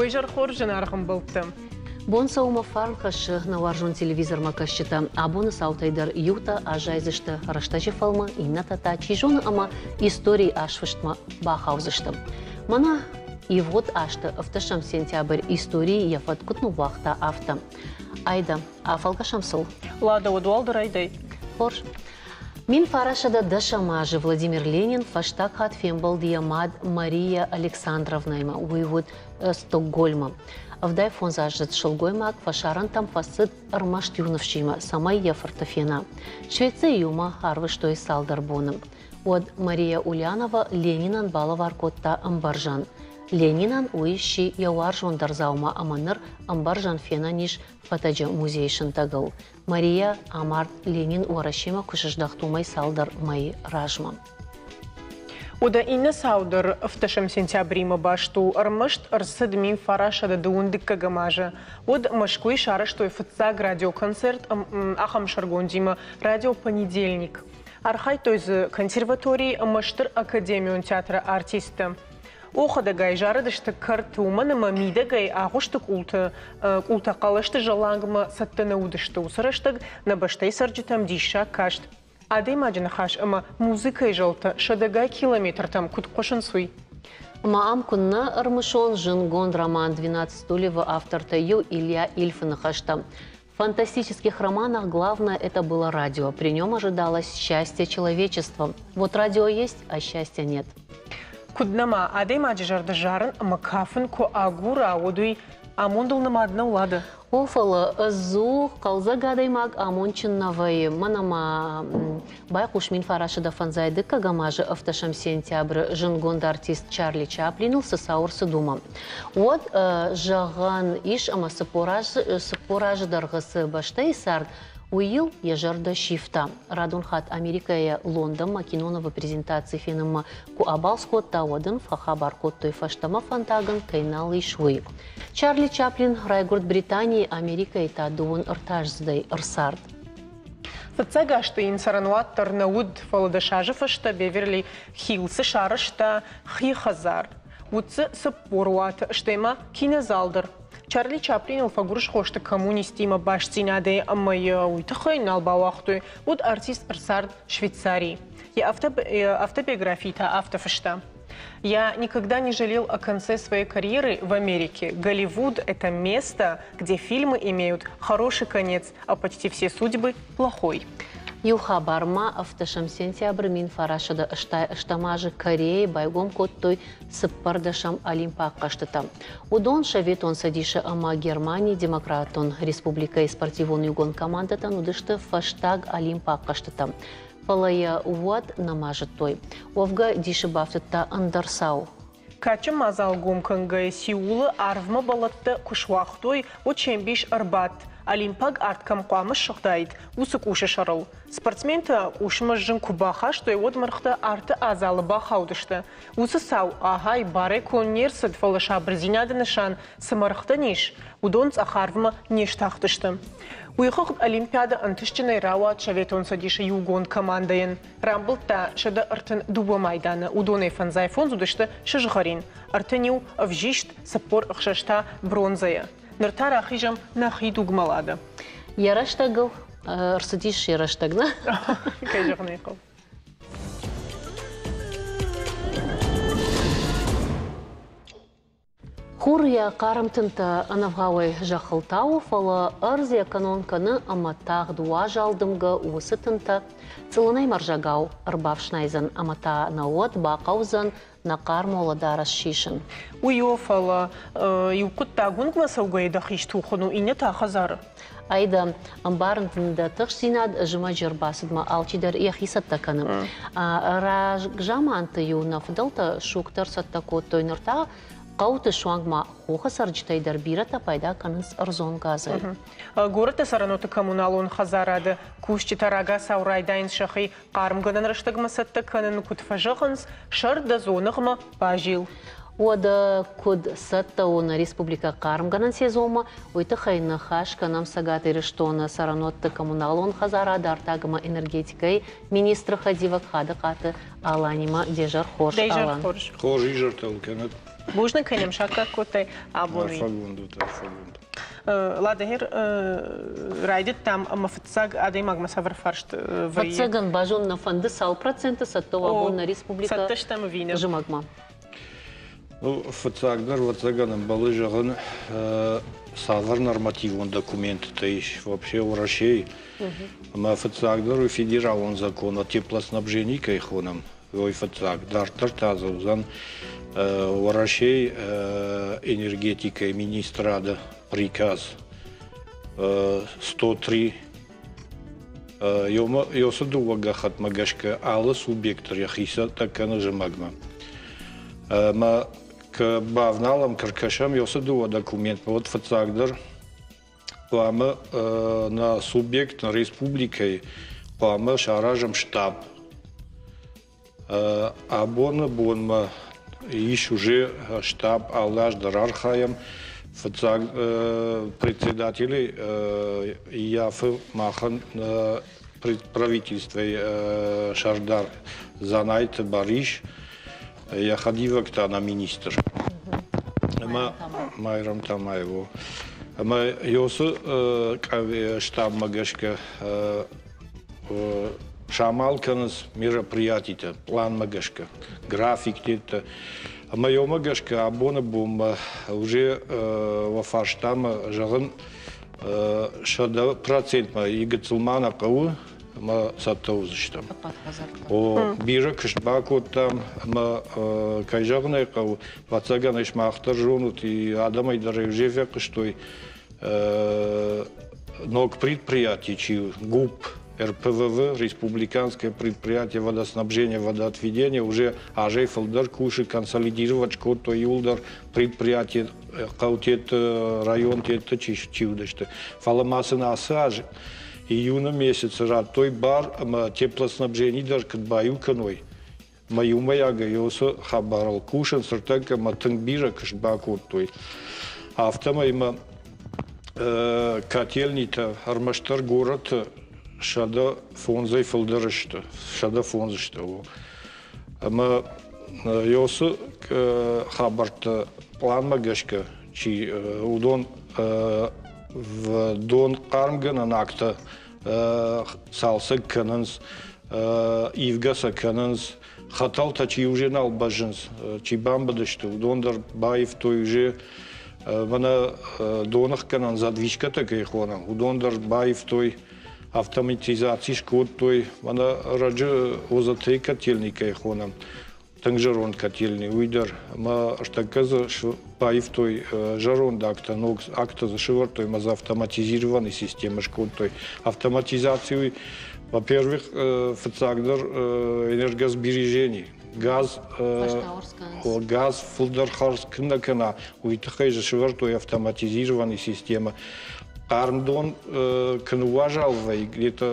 Уе зӕр хорз, зынаргъ ӕмбӕлттӕ! Бон сӕумӕ фарн хӕссы нӕ уарзон телевизормӕ кӕсджытӕ. Абоны цаутӕй дӕр иутӕ аззайдзысты рӕстӕджы фӕлмы, иннӕтӕ та, чи зоны, ӕмӕ историйы азфыстмӕ бахаудзысты. Мӕнӕ ивгъуыд азты ӕвдӕсӕм сентябрь историйы йӕ фӕд куыд ныууагъта, афтӕ. Айда, афӕлгӕсӕм сыл. Лада, уӕд уӕлдӕр айдай. Хорз. 1910 азы Владимир Ленин фӕстаг хатт фембӕлд йӕ мад Мария Александровнаимӕ. Уый уыд Стокгольмы. 75-аздзыд сылгоймаг фӕсарӕнтӕм фӕцыд ӕрмӕст иу ныфсимӕ, цӕмӕй йӕ фырты фена. Швецийы иумӕ арвыстой цалдӕр боны. Уӕд Мария Ульянова Ленинӕн балӕвар кодта ӕмбӕрзӕн. Ленинӕн уый сси йӕ уарзондӕр дзаума ӕмӕ ныр ӕмбӕрзӕн фенӕн ис фӕтӕджы музейы сынтӕгыл. Мария амард Ленин Уӕрӕсемӕ куы сыздӕхт, уымӕй цалдӕр мӕйы размӕ. Уӕдӕ иннӕ цау дӕр ӕвддӕсӕм сентябримӕ баст у. Ӕрмӕст ӕрцыд 1912 дыккӕгӕм азы. Уӕд Мӕскуыйы сарӕзтой фыццаг радиоконцерт ахӕм сӕргондимӕ «Радио Понедельник». Архайдтой дзы консерваторийы ӕмӕ стыр академион театры артисттӕ. Охӕдӕгӕй зарыдысты кӕрты, уымӕн ӕмӕ мидӕгӕй агъуысты къулты къултӕ хъӕлӕсты зӕллангмӕ цӕттӕ нӕ уыдысты. Уыцы рӕстӕг нӕ бӕстӕйы цӕрджытӕм диссаг каст, адӕймаджы ныхас ӕмӕ музыкӕйы зӕлтӕ сӕдӕгай километртӕм куыд хъуысынц, уый. Ӕмӕ ам куыннӕ ӕрмысон зындгонд роман «Двенадцать стульев»-ы автортӕй иу Илья Ильфы ныхӕстӕ. В фантастических романах главное это было радио. При нем ожидалось счастье человечества. Вот радио есть, а счастья нет. Куыд нӕма адӕймаджы зӕрдӕ зарын ӕмӕ кафын куы агура, уӕд уый амондыл нымад нӕу, Лада? О, фӕлӕ ӕдзух хъӕлдзӕг адӕймаг амондджын нӕ вӕййы. Мӕнӕ ма байхъус 1905 дыккӕгӕм азы ӕвдӕсӕм сентябры зындгонд артист Чарли Чаплиныл цы цау ӕрцыд, уымӕ. Уӕд, зӕгъӕн ис, ӕмӕ 40 азы дӕргъы цы бӕстӕйы цард, уый йыл йӕ зӕрдӕ сивта. Радон хатт Америкӕйӕ Лондонмӕ киноновы презентаци фенынмӕ куы абалц кодта, уӕд ын фӕхабар кодтой, фӕстӕмӕ фӕндаг ын кӕй нал ис, уый. Чарли Чаплин райгуырд Британийы, Америкӕйы та дыууын ӕртӕаздзыдӕй ӕрцард. Фыццаг азты йын цӕрӕнуат дӕр нӕ уыд, фӕлӕ 10 азы фӕстӕ Беверли Хиллсы сарӕзта хи хӕдзар. Уыд дзы 40 уаты, стӕй ма кинозал дӕр. Чарли Чаплиныл фӕгуырысхо сты коммунисттимӕ бастдзинадӕй ӕмӕ йӕ уый тыххӕй нал бауагътой. Уыд артист ӕрцард Швейцарийы. Йӕ автобиографийы та афтӕ фыста: Я никогда не жалел о конце своей карьеры в Америке. Голливуд – это место, где фильмы имеют хороший конец, а почти все судьбы – плохой. Иу хабар ма ӕвдӕсӕм сентябры 1968 азы Кореяйы байгом кодтой цыппӕрдӕсӕм Олимпаг хъӕзтытӕ. Уыдон Советон Цӕдисы ӕмӕ Германийы Демократон Республикӕйы спортивон иугонд командӕтӕн уыдысты фӕстаг Олимпаг хъӕзтытӕ. Фӕлӕ йӕ уӕд нӕма зыдтой. Уӕвгӕ дисы бафтыдта ӕндӕр цау. Кадджын мадзал гом кӕнгӕйӕ Сеулы арвмӕ бӕлӕттӕ куы суагътой, уӕд се мбис ӕрбадт, олимпаг арт кӕм хъуамӕ ссыгъдаид, уыцы къусы сӕрыл. Спортсментӕ къусмӕ зын куы бахастой, уӕд мӕргътӕ арты адзалы бахаудысты. Уыцы цау ахӕй барӕй конд не рцыд, фӕлӕ сабырдзинады нысан цы мӕргътӕн ис, уыдон цъӕх арвмӕ не стахтысты. Уый хыгъд Олимпиадӕ ӕнтыстджынӕй рауад Советон Цӕдисы иугонд командӕйӕн. Рамбылдта 132 майданы, уыдонӕй 55 уыдысты сызгъӕрин, 31 ӕвзист, 46 та бронзӕйӕ. Ныр та рахизӕм нӕхи дугмӕ Лада. Йӕ рӕстӕгыл ӕрцыдис йӕ рӕстӕг, нӕ? Кӕй зӕгъын ӕй хъӕуы. Хур йӕ хъарм тынтӕ ӕнӕвгъауӕй зӕххыл тауы, фӕлӕ ӕрдз йӕ кӕнон кӕны ӕмӕ тагъд уазал дымгӕ уыцы тынтӕ цъылынӕй мӕрзӕгау ӕрбафснайдзӕн ӕмӕ та нӕ уӕд бахъӕудзӕн нӕ хъарм уӕлӕдарӕс сисын. Уый о, фӕлӕ иу хъуыддаг уынгмӕ цӕугӕйӕ дӕхи стухын у, иннӕ та хӕдзары. Айда, ӕмбарын дын дӕ тыхстдзинад, зымӕджы ӕрбацыдмӕ алчидӕр йӕхи цӕттӕ кӕны. Рагзаманты-иу нӕ фыдӕлтӕ сугтӕ ӕрцӕттӕ кодтой, ныр та хъӕуты суанг ма хохы цӕрджытӕй дӕр бирӕтӕ пайда кӕнынц ӕрдзон газӕй. Горӕты цӕрӕнуӕтты коммуналон хӕдзарады кусджытӕ рагацау райдайынц сӕхи хъармгӕнӕн рӕстӕгмӕ цӕттӕ кӕнын, куыд фӕзӕгъынц, сӕр дӕ дзоныгъмӕ базил. Уӕдӕ куыд цӕттӕ у нӕ республикӕ хъармгӕнӕн сезонмӕ, уый тыххӕй ныхас кӕнӕм Цӕгат Ирыстоны цӕрӕнуӕтты коммуналон хӕдзарады артаг ӕмӕ энергетикӕйы министры хӕдивӕг Хадыхъаты Аланимӕ. Де зӕр хорз, Алан. Хорз изӕртӕ кӕнӕд. Бузныг, кӕй нӕм саккаг кодтай абон. Арфӕгонд ут, арфӕгонд. Ладӕгер райдыдтам ӕмӕ фыццаг адӕймагмӕ цавӕр фарст вӕййы? Фыццагӕн базон нӕ фӕнды цал проценты цӕттӕ у абон нӕ республикӕ цӕттӕ стӕм ӕви нӕ? Зымӕгмӕ? Ну, фыццагдӕр, ӕвӕццӕгӕн, ӕмбӕлы зӕгъын, цавӕр нормативон документтӕ ис вообще Уӕрӕсейы. Ӕмӕ фыццагдӕр уый федералон закон о теплоснабжении кӕй хонӕм, уый фыццаг. Дарддӕр та дзы уыдзӕн Уӕрӕсейы энергетикӕйы министрады приказ 103. Ёсы дыууӕ гӕххӕтмӕ гӕсгӕ алы субъект дӕр йӕхи цӕттӕ кӕны зымӕгмӕ. Ӕмӕ куы бавналӕм, куы ркӕсӕм ёсы дыууӕ документмӕ, уӕд фыццагдӕр хъуамӕ нӕ субъект, нӕ республикӕйы хъуамӕ саразӕм штаб. Абоны бонмӕ ис уже штаб, алы аз дӕр архайӕм. Фыццаг председатели ййафы махӕн правительствойы сӕрдар Дзанайты Барис, йӕ хӕдивӕг та нӕ министр. Ӕмӕ Майрӕм Тамаева. Ӕмӕ Ёсы штабмӕ гӕсгӕ самал кӕнынц мероприятитӕ пъланмӕ гӕсгӕ, графиктӕ. Ӕмӕ ёмӕ гӕсгӕ абоны бонмӕ уже уӕ фарстамӕ зӕгъын 100 процентмӕ и гыццыл ма нӕ хъӕуы ӕмӕ цӕттӕ уыдзыстӕм. О, бирӕ куыст бакодтам ӕмӕ, кӕй зӕгъын ӕй хъӕуы, ӕвӕццӕгӕн ӕй сымах дӕр зонут, и адӕмӕй дӕр уже фехъуыстой, ног предприятие чи ГУП РПВВ, республиканское предприятие водоснабжения, водоотведения, уже азӕй фылдӕр кусы, консолидировать кодтой иуылдӕр предприятие хъӕутеты, районтеты чи уыдысты. Фӕлӕ ма сын ацы аз июны месяцы радтой бар ӕмӕ теплоснабжение дӕр куыд баиу кӕной, мӕ иумӕйагӕй уыцы хабарыл кусынц ныртӕккӕ ӕмӕ тынг бирӕ куыст бакодтой. Афтӕмӕй ма котельнитӕ ӕрмӕстдӕр горӕты 105-ӕй фылдӕр сты, 105 сты. Ӕмӕ уыцы хабӕрттӕ пъланмӕ гӕсгӕ чи уыдон дон хъармгӕнӕн агтӕ цалцӕг кӕнынц, ивгӕ сӕ кӕнынц, хӕтӕлтӕ чи уже нал бӕззынц, чи бамбыдысты, уыдон дӕр баивтой уже мӕнӕ доныхгӕнӕн задвижкӕтӕ кӕй хонӕм, уыдон дӕр баивтой, автоматизаци скодтой, мӕнӕ раджы ОЗТ котельный кӕй хонӕм, тынг зӕронд котельный, уый дӕр ӕмӕ ӕртӕккӕ дзы баивтой зӕронд агтӕ, ног агтӕ дзы сӕвӕрдтой ӕмӕ дзы автоматизированный системӕ скодтой. Автоматизаци уый, во-первых, фыццагдӕр энергосбережение. Газ, газ фылдӕр хардз куы нӕ кӕна, уый тыххӕй дзы сӕвӕрдтой автоматизированный системӕ. Хъарм дон куы ныууазал вӕййы, где-то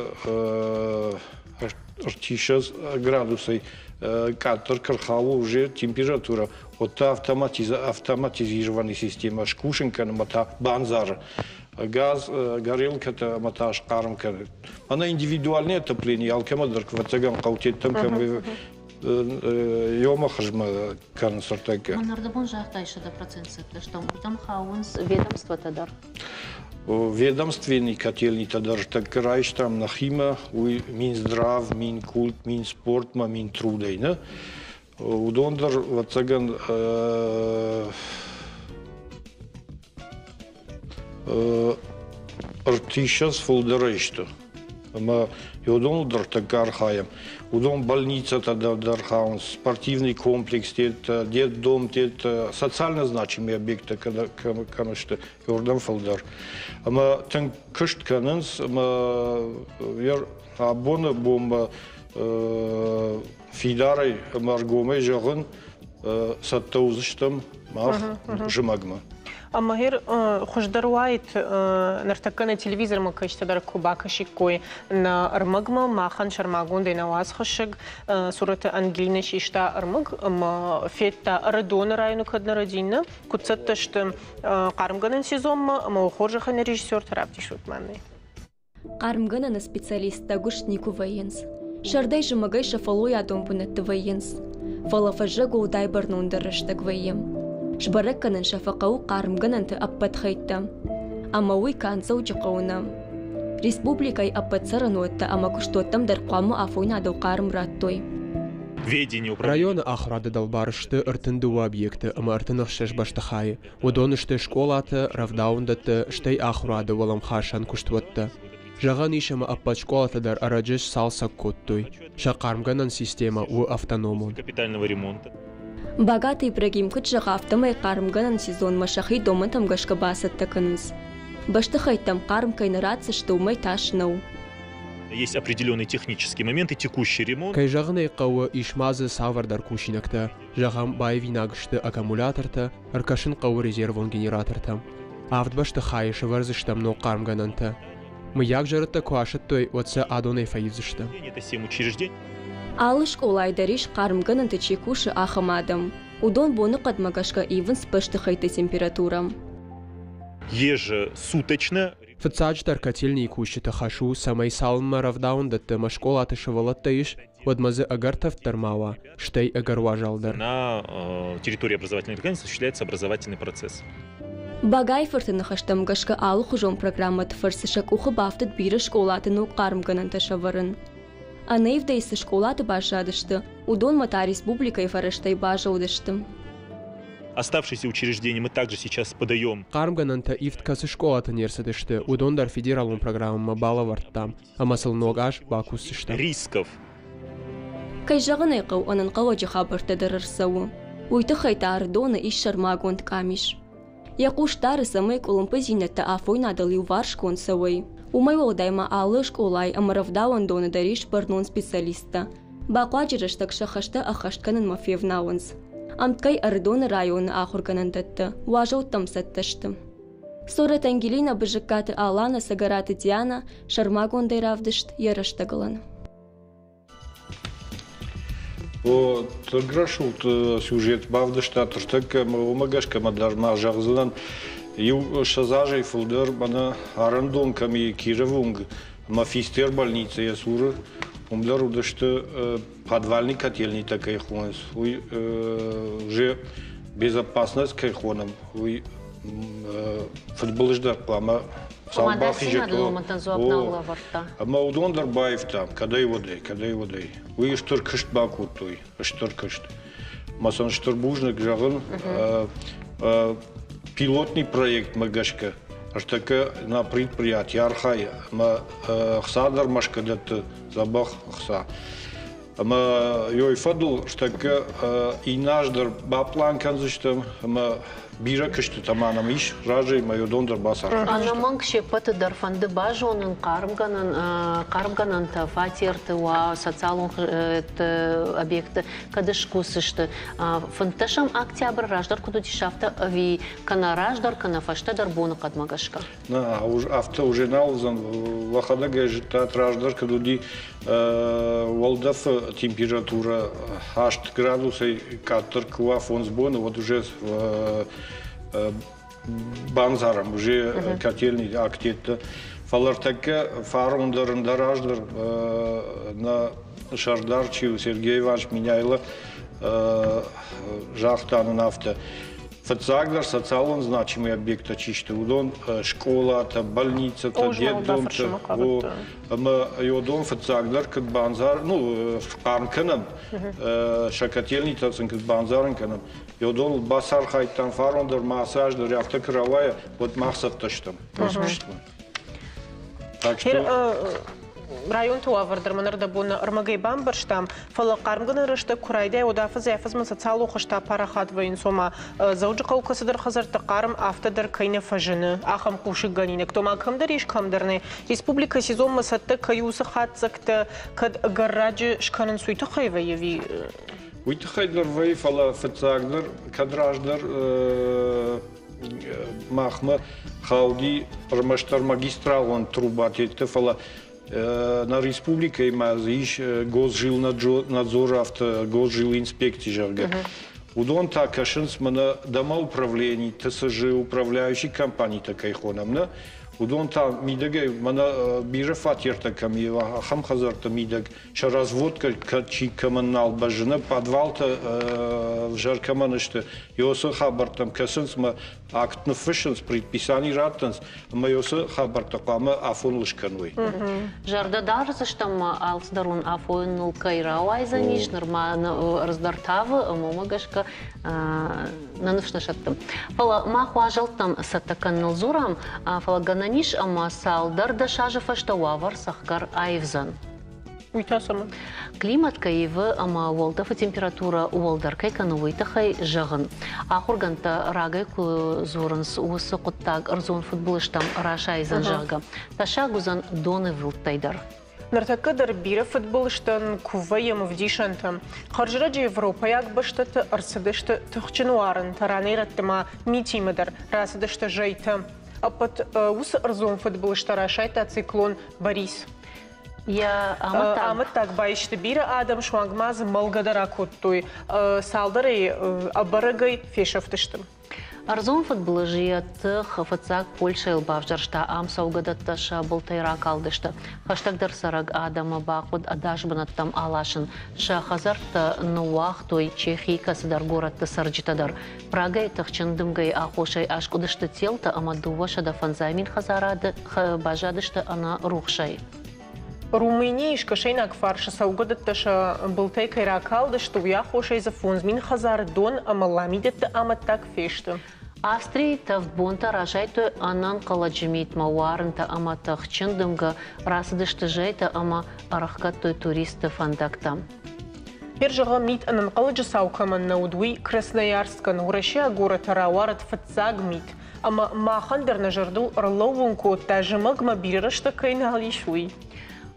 30 градусӕй къаддӕр куы рхауы уже температурӕ, уӕд та автоматизированный системӕ скусын кӕны ӕмӕ та бандзары. Газ, горелкӕтӕ ӕмӕ та схъарм кӕны. Ӕнӕ индивидуальное отопление алкӕмӕ дӕр, ӕвӕццӕгӕн, хъӕутеттӕм кӕм ёмӕ хызмӕ кӕнынц ӕртӕккӕ. Мӕнӕрдӕбон загътай 100% цӕттӕ стӕм. Уырдӕм хауынц ведомствотӕ дӕр. Ведомственный котельнитӕ дӕр тӕккӕ райстам нӕхимӕ, уый Минздрав, Минкульт, Минспортмӕ, Минтрудӕй. Нӕ? Уыдон дӕр, ӕвӕццӕгӕн, 30 фылдӕрӕй сты. Ӕмӕ уыдоныл дӕр тӕккӕ архайӕм. Уыдон больницӕтӕ дӕр хауынц, спортивный комплекс, детдом, социально значимые объекттӕ кӕм сты, уырдӕм фылдӕр. Ӕмӕ тынг куыст кӕнынц, ӕмӕ абоны бонмӕ фидарӕй ӕмӕ ӕргомӕй зӕгъын, цӕттӕ уыдзыстӕм мах зымӕгмӕ. Ӕмӕ гъер хуыздӕр уаид, ныртӕккӕ нӕ телевизормӕ кӕсджытӕ дӕр куы бакӕсиккой нӕ ӕрмӕгмӕ, махӕн сӕрмагондӕй нӕ уацхӕссӕг Сураты Ангелинӕ систа ӕрмӕг ӕмӕ федта Ӕрыдоны районы кӕд нӕ рӕдин, куыд цӕттӕ сты хъармгӕнӕн сезонмӕ ӕмӕ хорзӕхӕн режиссертӕ равдисут мӕнӕй. Хъармгӕнӕны специалисттӕ гуыст никуы вӕййынц. Сӕрдӕй-зымӕгӕй сӕ фӕллойадон бынӕтты вӕййынц. Фӕлӕ фӕззӕг уӕлдай бӕрнондӕр рӕстӕг вӕййы. Сбӕрӕг кӕнын сӕ фӕхъӕуы хъармгӕнӕнты ӕппӕт хӕйттӕ. Ӕмӕ уый канд Дзӕуджыхъӕуы нӕ. Республикӕйы ӕппӕт цӕрӕнуӕттӕ ӕмӕ куыстуӕттӕм дӕр хъуамӕ афойнадыл хъарм радтой. Районы ахуырады дӕлбар сты 32 объекты ӕмӕ 36 бӕстыхайы. Уыдон сты скъолатӕ, рӕвдауӕндӕттӕ, стӕй ахуырады уӕлӕмхасӕн куыстуӕттӕ. Зӕгъӕн ис, ӕмӕ ӕппӕт скъолатӕ дӕр ӕрӕджы сцалцӕг кодтой. Сӕ хъармгӕнӕн системӕ у автономон. Багаты Ибрагим куыд зӕгъы, афтӕмӕй хъармгӕнӕн сезонмӕ сӕхи домӕнтӕм гӕсгӕ бацӕттӕ кӕнынц. Бӕстыхӕйттӕм хъарм кӕй нӕ ратдзысты, уымӕй тас нӕу. Есть определенные технические моменты, текущий ремонт. Кӕй зӕгъын ӕй хъӕуы, ис ма дзы цавӕрдӕр кусинӕгтӕ. Зӕгъӕм, баивинаг сты аккумулятортӕ, ӕркӕсын хъӕуы резервон генератортӕм. Авд бӕстыхайы сӕвӕрдзыстӕм ног хъармгӕнӕнтӕ. Мыййаг зӕрӕдтӕ куы асӕттой, уӕд сӕ адонӕй фӕивдзыстӕм. Алы скъолайы дӕр ис хъармгӕнӕнты чи кусы, ахӕм адӕм. Уыдон боныхъӕдмӕ гӕсгӕ ивынц бӕстыхӕйтты температурӕ. Ежесуточно. Фыццаджыдӕр котельныйы кусджыты хӕс у, цӕмӕй цалынмӕ рӕвдауӕндӕтты ӕмӕ скъолаты сывӕллӕттӕ ис, уӕдмӕ дзы ӕгӕр тӕвд дӕр ма уа, стӕй ӕгӕр уазал дӕр. На территории образовательной организации осуществляется образовательный процесс. Багайы-фырты ныхӕстӕм гӕсгӕ алыхуызон программӕты фӕрцы сӕ къухы бафтыд бирӕ скъолаты ног хъармгӕнӕнтӕ сӕвӕрын. Ӕнӕивдӕй цы скъолаты баззадысты, уыдонмӕ та республикӕйы фӕрӕзтӕй базылдысты. Оставшиеся учреждения мы также сейчас подаем. Хъармгӕнӕнтӕ ивд кӕцы скъолаты не рцыдысты, уыдон дӕр федералон программӕмӕ балӕвӕрдтам, ӕмӕ сыл ног аз бакусдзыстӕм. Рисков. Кӕй зӕгъын ӕй хъӕуы, ӕнӕнхъӕлӕджы хабӕрттӕ дӕр ӕрцӕуы. Уый тыххӕй та Ӕрыдоны ис сӕрмагонд къамис. Йӕ хъус дары, цӕмӕй къуылымпыдзинӕдтӕ афойнадыл иуварсгонд цӕуой. Уымӕй уӕлдай ма алы скъолайы ӕмӕ рӕвдауӕндоны дӕр ис бӕрнон специалисттӕ. Бахъуаджы рӕстӕг сӕ хӕстӕ ӕххӕст кӕнынмӕ февналынц. Ӕмткӕй Ӕрыдоны районы ахуыргӕнӕндӕттӕ уазӕлттӕм цӕттӕ сты. Сорӕт Ангелина, Бызыккаты Алана, Цӕгӕраты Диана сӕрмагондӕй равдыст йӕ рӕстӕгылӕн. О, тынг рӕсугъд сюжет бавдыста ныртӕккӕ, уымӕ гӕсгӕ мӕ дӕр ма зӕгъдзынӕн, иу 20 азӕй фылдӕр мӕнӕ арӕндон кӕм и Кировы уынг ӕмӕ Фистер больницӕ йӕ цуры, уым дӕр уыдысты подвальный котельнитӕ кӕй хонынц, уый уже безопасность кӕй хонӕм, уый фыдбылыз дӕр хъуамӕ цал бахизӕт. Ӕмӕ уыдон дӕр баивтам, кӕдӕй уӕдӕй, кӕдӕй уӕдӕй. Уый стыр куыст бакодтой, стыр куыст. Мӕ сын стыр бузныг зӕгъын, пилотный проектмӕ гӕсгӕ ӕртӕккӕ нӕ предприятие архайы ӕмӕ ӕхца дӕр Мӕскуы дӕтты дзӕбӕх ӕхца. Ӕмӕ ёй фӕдыл ӕртӕккӕ иннӕ аз дӕр баплан кӕндзыстӕм ӕмӕ бирӕ куыстытӕ ма нӕм ис разӕй ӕмӕ уыдон дӕр бацархайдзыстӕм. Ӕнӕмӕнг се ппӕты дӕр фӕнды базонын хъармгӕнӕн хъармгӕнӕнтӕ фатерты уа, социалон объектты кӕд скусдзысты. 15 октябры раздӕр куыд уыдис, афтӕ ӕви кӕнӕ раздӕр, кӕнӕ фӕстӕдӕр боныхъӕдмӕ гӕсгӕ? Нӕ, афтӕ уже нал уыдзӕн. Уӕхӕдӕг ӕй зыдтат, раздӕр куыд уыди, уӕлдӕфы температурӕ 8 градусӕй къаддӕр куы уа 5 боны, уӕд уже бандзарӕм, уже котельный актетты. Фӕлӕ ӕртӕккӕ фарон дӕр, ӕндӕр аз дӕр нӕ сӕрдар чи у, Сергей Иванович Меняйло загъта нын афтӕ: Фыццагдӕр социалон значимый объекттӕ чи сты, уыдон скъолатӕ, больницӕтӕ, детдомтӕ, ӕмӕ уыдон фыццагдӕр куыд бандзар, ну, хъарм кӕнӕм, сӕ котельнитӕ сын куыд бандзарын кӕнӕм, уыдоныл бацархайдтам фарон дӕр ма ацы аз дӕр афтӕ куы рауайа, уӕд мах цӕттӕ стӕм уыцы куыстмӕ. Так что районты уавӕр дӕр мӕн ӕрдӕбон ӕрмӕгӕй бамбӕрстам, фӕлӕ хъармгӕнӕн рӕстӕг куы райдайа, уӕд афӕдзӕй-афӕдзмӕ социалон хызтӕ парахат вӕййынц, ома Дзӕуджыхъӕуы кӕцыдӕр хӕдзӕртты хъарм афтӕ дӕр кӕй нӕ фӕзыны, ахӕм хъусыггӕнинӕгтӕ, ома кӕмдӕр ис, кӕмдӕр нӕ. Республикӕ сезонмӕ цӕттӕ кӕй у, уыцы хатдзӕгтӕ кӕд ӕгӕр раджы скӕнынц, уый тыххӕй вӕййы ӕви? Уый тыххӕй дӕр вӕййы, фӕлӕ фыццагдӕр, кӕд раздӕр махмӕ хауди ӕрмӕстдӕр магистралон трубатетты, фӕлӕ нӕ республикӕйы ма дзы ис госжилнадзор, афтӕ госжилинспекци, зӕгъгӕ. Уыдон та кӕсынц мӕнӕ домоуправлени, ТСЖ, управляющий компанитӕ кӕй хонӕм, нӕ? Уыдон та мидӕгӕй, мӕнӕ бирӕ фатертӕ кӕм и, ахӕм хӕдзӕртты мидӕг сӕ разводкӕ чи кӕмӕн нал бӕззы, нӕ подвалтӕ ӕвзӕр кӕмӕн сты, уыцы хабӕрттӕм кӕсынц ӕмӕ акт ныффыссынц, предписани раттынц, ӕмӕ уыцы хабӕрттӕ хъуамӕ афоныл скӕной. Зӕрдӕ дардзыстӕм ма алцыдӕр уын афоныл кӕй рауайдзӕнис, нырма ӕрдз дӕр тавы, ӕмӕ уымӕ гӕсгӕ нӕ ныфс нӕ сӕтты. Фӕлӕ мах уазӕлттӕм цӕттӕ кӕныныл дзурӕм, фӕлӕ гӕнӕн ис ӕмӕ цалдӕр дӕсазы фӕстӕ уавӕр цӕхгӕр аивдзӕн. Уый та цӕмӕн? Климат кӕй ивы ӕмӕ уӕлдӕфы температурӕ уӕлдӕр кӕй кӕны, уый тыххӕй зӕгъын. Ахуыргӕндтӕ рагӕй куы дзурынц, уыцы хъуыддаг ӕрдзон фыдбылызтӕм расайдзӕн, зӕгъгӕ. Тӕссаг уыдзӕн донивылдтӕй дӕр. Ныртӕккӕ дӕр бирӕ фыдбылызтӕн куы вӕййӕм ӕвдисӕнтӕ. Хӕрзрӕджы европӕйаг бӕстӕты ӕрцыдысты тыхджын уарынтӕ, ранӕй-рӕтты ма митимӕ дӕр рацыдысты зӕйтӕ. Ӕппӕт уыцы ӕрдзон фыдбылызтӕ расайдта циклон Борис. Йӕ амӕттаг баисты бирӕ адӕм, суанг ма дзы мӕлгӕ дӕр акодтой. Цалдӕрӕй ӕбӕрӕгӕй фесӕфтысты. Ӕрдзон фыдбылызы йӕ тых фыццаг Польшӕйыл бавзӕрста, ам цӕугӕдӕттӕ сӕ былтӕй ракалдысты. Хӕстӕгдӕр цӕрӕг адӕмы бахъуыд ӕдас бынӕттӕм аласын. Сӕ хӕдзӕрттӕ ныууагътой Чехийы кӕцыдӕр горӕтты цӕрджытӕ дӕр. Прагӕйы тыхджын дымгӕйы аххосӕй аскъуыдысты телтӕ ӕмӕ 250 мин хӕдзарады баззадысты ӕнӕ рухсӕй. Румынийы скӕсӕйнаг фарсы цӕугӕдӕттӕ сӕ былтӕй кӕй ракалдысты, уый аххосӕй дзы 5000 хӕдзары дон ӕмӕ ламидӕтты амӕттаг фесты. Австрийы тӕвд бонтӕ расайдтой ӕнӕнхъӕлӕджы митмӕ уарынтӕ ӕмӕ тыхджын дымгӕ, рацыдысты зӕйтӕ ӕмӕ ӕрӕхгӕдтой туристты фӕндӕгтӕ. Ныр зӕгъӕм, мит ӕнӕнхъӕлӕджы цау кӕмӕн нӕ уыд, уый Красноярскӕн уӕрӕсейаг горӕты рауарыд фыццаг мит. Ӕмӕ махӕн дӕр нӕ зӕрдыл ӕрлӕууын кодта, зымӕгмӕ бирӕ рӕстӕг кӕй нал ис, уый.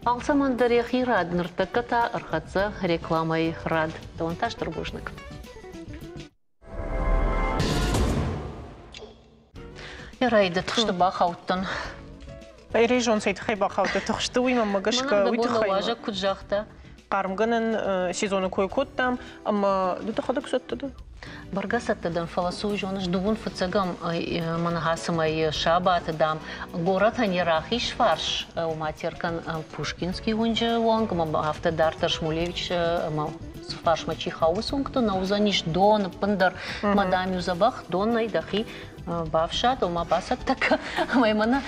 Алцӕмӕн дӕр йӕхи рад, ныртӕккӕ та ӕрхӕццӕ рекламӕйы рад. Дӕуӕн та стыр бузныг. Райдыд тыхсты бахаудтӕн. Рейзон цӕй тыххӕй бахаудта тыхсты, уый мӕнмӕ гӕсгӕ уый тыххӕй. Уазӕг куыд загъта? Хъармгӕнӕн сезоны кой кодтам, ӕмӕ ды дӕхӕдӕг цӕттӕ дӕ? Бӕргӕ цӕттӕ дӕн, фӕлӕ цы уый зоныс, дыууын фыццӕгӕм мӕнӕ цымӕ сабаты, дам, горӕтӕн йӕ рахиз фарс, ома Теркӕн Пушкинский уынджы онг, ӕмӕ афтӕ дарддӕр Шмулевич ӕмӕ фарсмӕ чи хауы, уыцы уынгты нӕ уыдзӕнис дон ӕппындӕр. Мӕ, дам-иу дзӕбӕх донӕй дӕхи бафсад, ома бацӕттӕ кӕ. Ӕмӕ мӕнӕ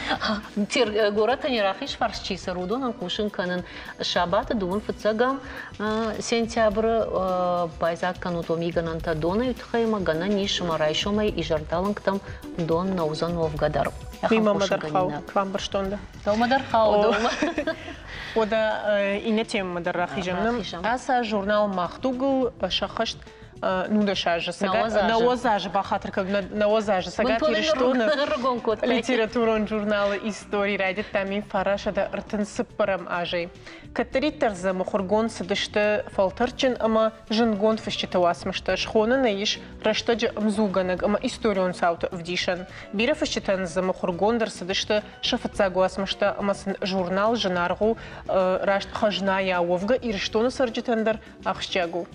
горӕтӕн йӕ рахиз фарс чи цӕры, уыдонӕн хъусын кӕнын, сабаты дыууын фыццӕгӕм сентябры байдзаг кӕнут уӕ мигӕнӕнтӕ донӕй тыххӕй ӕмӕ гӕнӕн ис, ӕмӕ райсомӕй изӕрдалынгтӕм дон нӕ уыдзӕн уӕвгӕ дӕр. Уый мӕмӕ дӕр хауы, бамбӕрстон дӕ. Дӕумӕ дӕр хауы, дӕумӕ. Уӕдӕ иннӕ темӕмӕ дӕр рахизӕм. Ацы журнал Мах дуг-ыл сӕххӕст 19 азы, 90 азы, бахатыр кӕн, 90 азы Цӕгат Ирыстоны литературон журналы истори райдыдта 1934 азӕй. Кӕддӕриддӕр дзы мыхуыргонд цыдысты фӕлтӕрдджын ӕмӕ зындгонд фысджыты уацмыстӕ, схонӕн ӕй ис рӕстӕджы ӕмдзугӕнӕг ӕмӕ историон цауты ӕвдисӕн. Бирӕ фысджытӕн дзы мыхуыргонд ӕрцыдысты сӕ фыццаг уацмыстӕ ӕмӕ сын журнал зынаргъ у, раст хӕзнайӕ уӕвгӕ Ирыстоны цӕрджытӕн дӕр ахсджиаг у.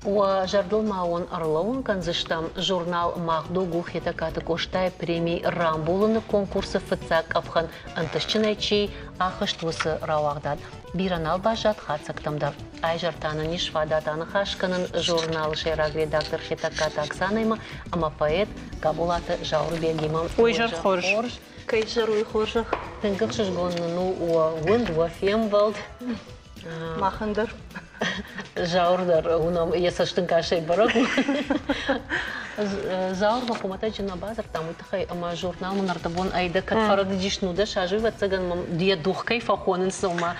Уӕ зӕрдыл ма уын ӕрлӕууын кӕндзыстӕм, журнал «Мах дуг» у Хетӕгкаты Къостайы преми рамбулыны конкурсы фыццаг къӕпхӕн ӕнтыстджынӕй чи ахызт, уыцы рауагъдад. Бирӕ нал баззад хатдзӕгтӕм дӕр. Айзӕр та нын ис фадат аныхас кӕнын журналы сӕйраг редактор Хетӕгкаты Оксанӕимӕ ӕмӕ поэт Габолаты Зауырбегимӕ. Ой, зӕр хорз. Кӕй зӕр, уый хорзӕх. Тынг ӕхсызгон нын у уӕ уынд, уӕ фембӕлд. Махӕн дӕр. Зауыр дӕр уынӕм, йӕ цӕстӕнгасӕй бӕрӕг у. Зауыр мӕ хуымӕтӕджы нӕ бадзырдтам уый тыххӕй, ӕмӕ журнал мын ӕрдӕбон ӕй дӕ кӕд фӕрӕдыдис 19 азы, ӕвӕццӕгӕн мӕм йӕ дух кӕй фӕхонынц, ома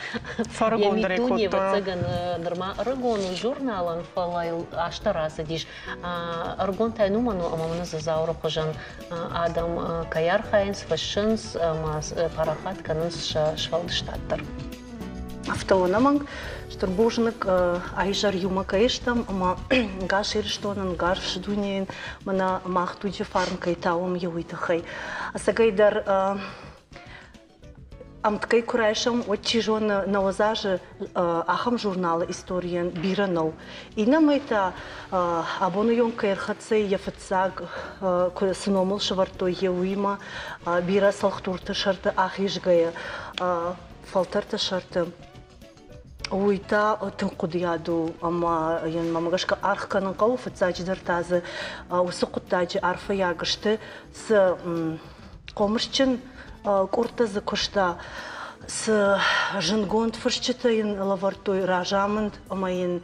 йӕ миддуне, ӕвӕццӕгӕн, нырма ӕрыгон у журналӕн, фӕлӕ йыл азтӕ рацыдис. Ӕрыгон та йын уымӕн у, ӕмӕ мын дзы Зауыры хуызӕн адӕм кӕй архайынц, фыссынц ӕмӕ парахат кӕнынц сӕ сфӕлдыстад дӕр. Афтӕ ӕнӕмӕнг стыр бузныг айзӕр иумӕ кӕй стӕм ӕмӕ гас Ирыстонӕн, гас дунейӕн мӕнӕ мах дуджы фарн кӕй тауӕм, уый тыххӕй. Ӕцӕгӕйдӕр. Ӕмткӕй куы райсӕм, уӕд чи зоны, 90 азы ахӕм журналы историйӕн бирӕ нӕу. Иннӕмӕй та абоны онг кӕй ӕрхӕццӕ йӕ фыццаг цы номыл сӕвӕрдтой, йӕ уыимӕ бирӕ цӕлхдурты сӕрты ахизгӕйӕ, фӕлтӕрты сӕрты. Уый та тынг хъуыдыйад у ӕмӕ йын мӕм гӕсгӕ аргъ кӕнын хъӕуы. Фыццаджыдӕр та дзы уыцы хъуыддаджы арфӕйаг сты, цы хъомысджын къордтӕ дзы куыста, цы зындгонд фысджытӕ йын лӕвӕрдтой разамынд ӕмӕ йын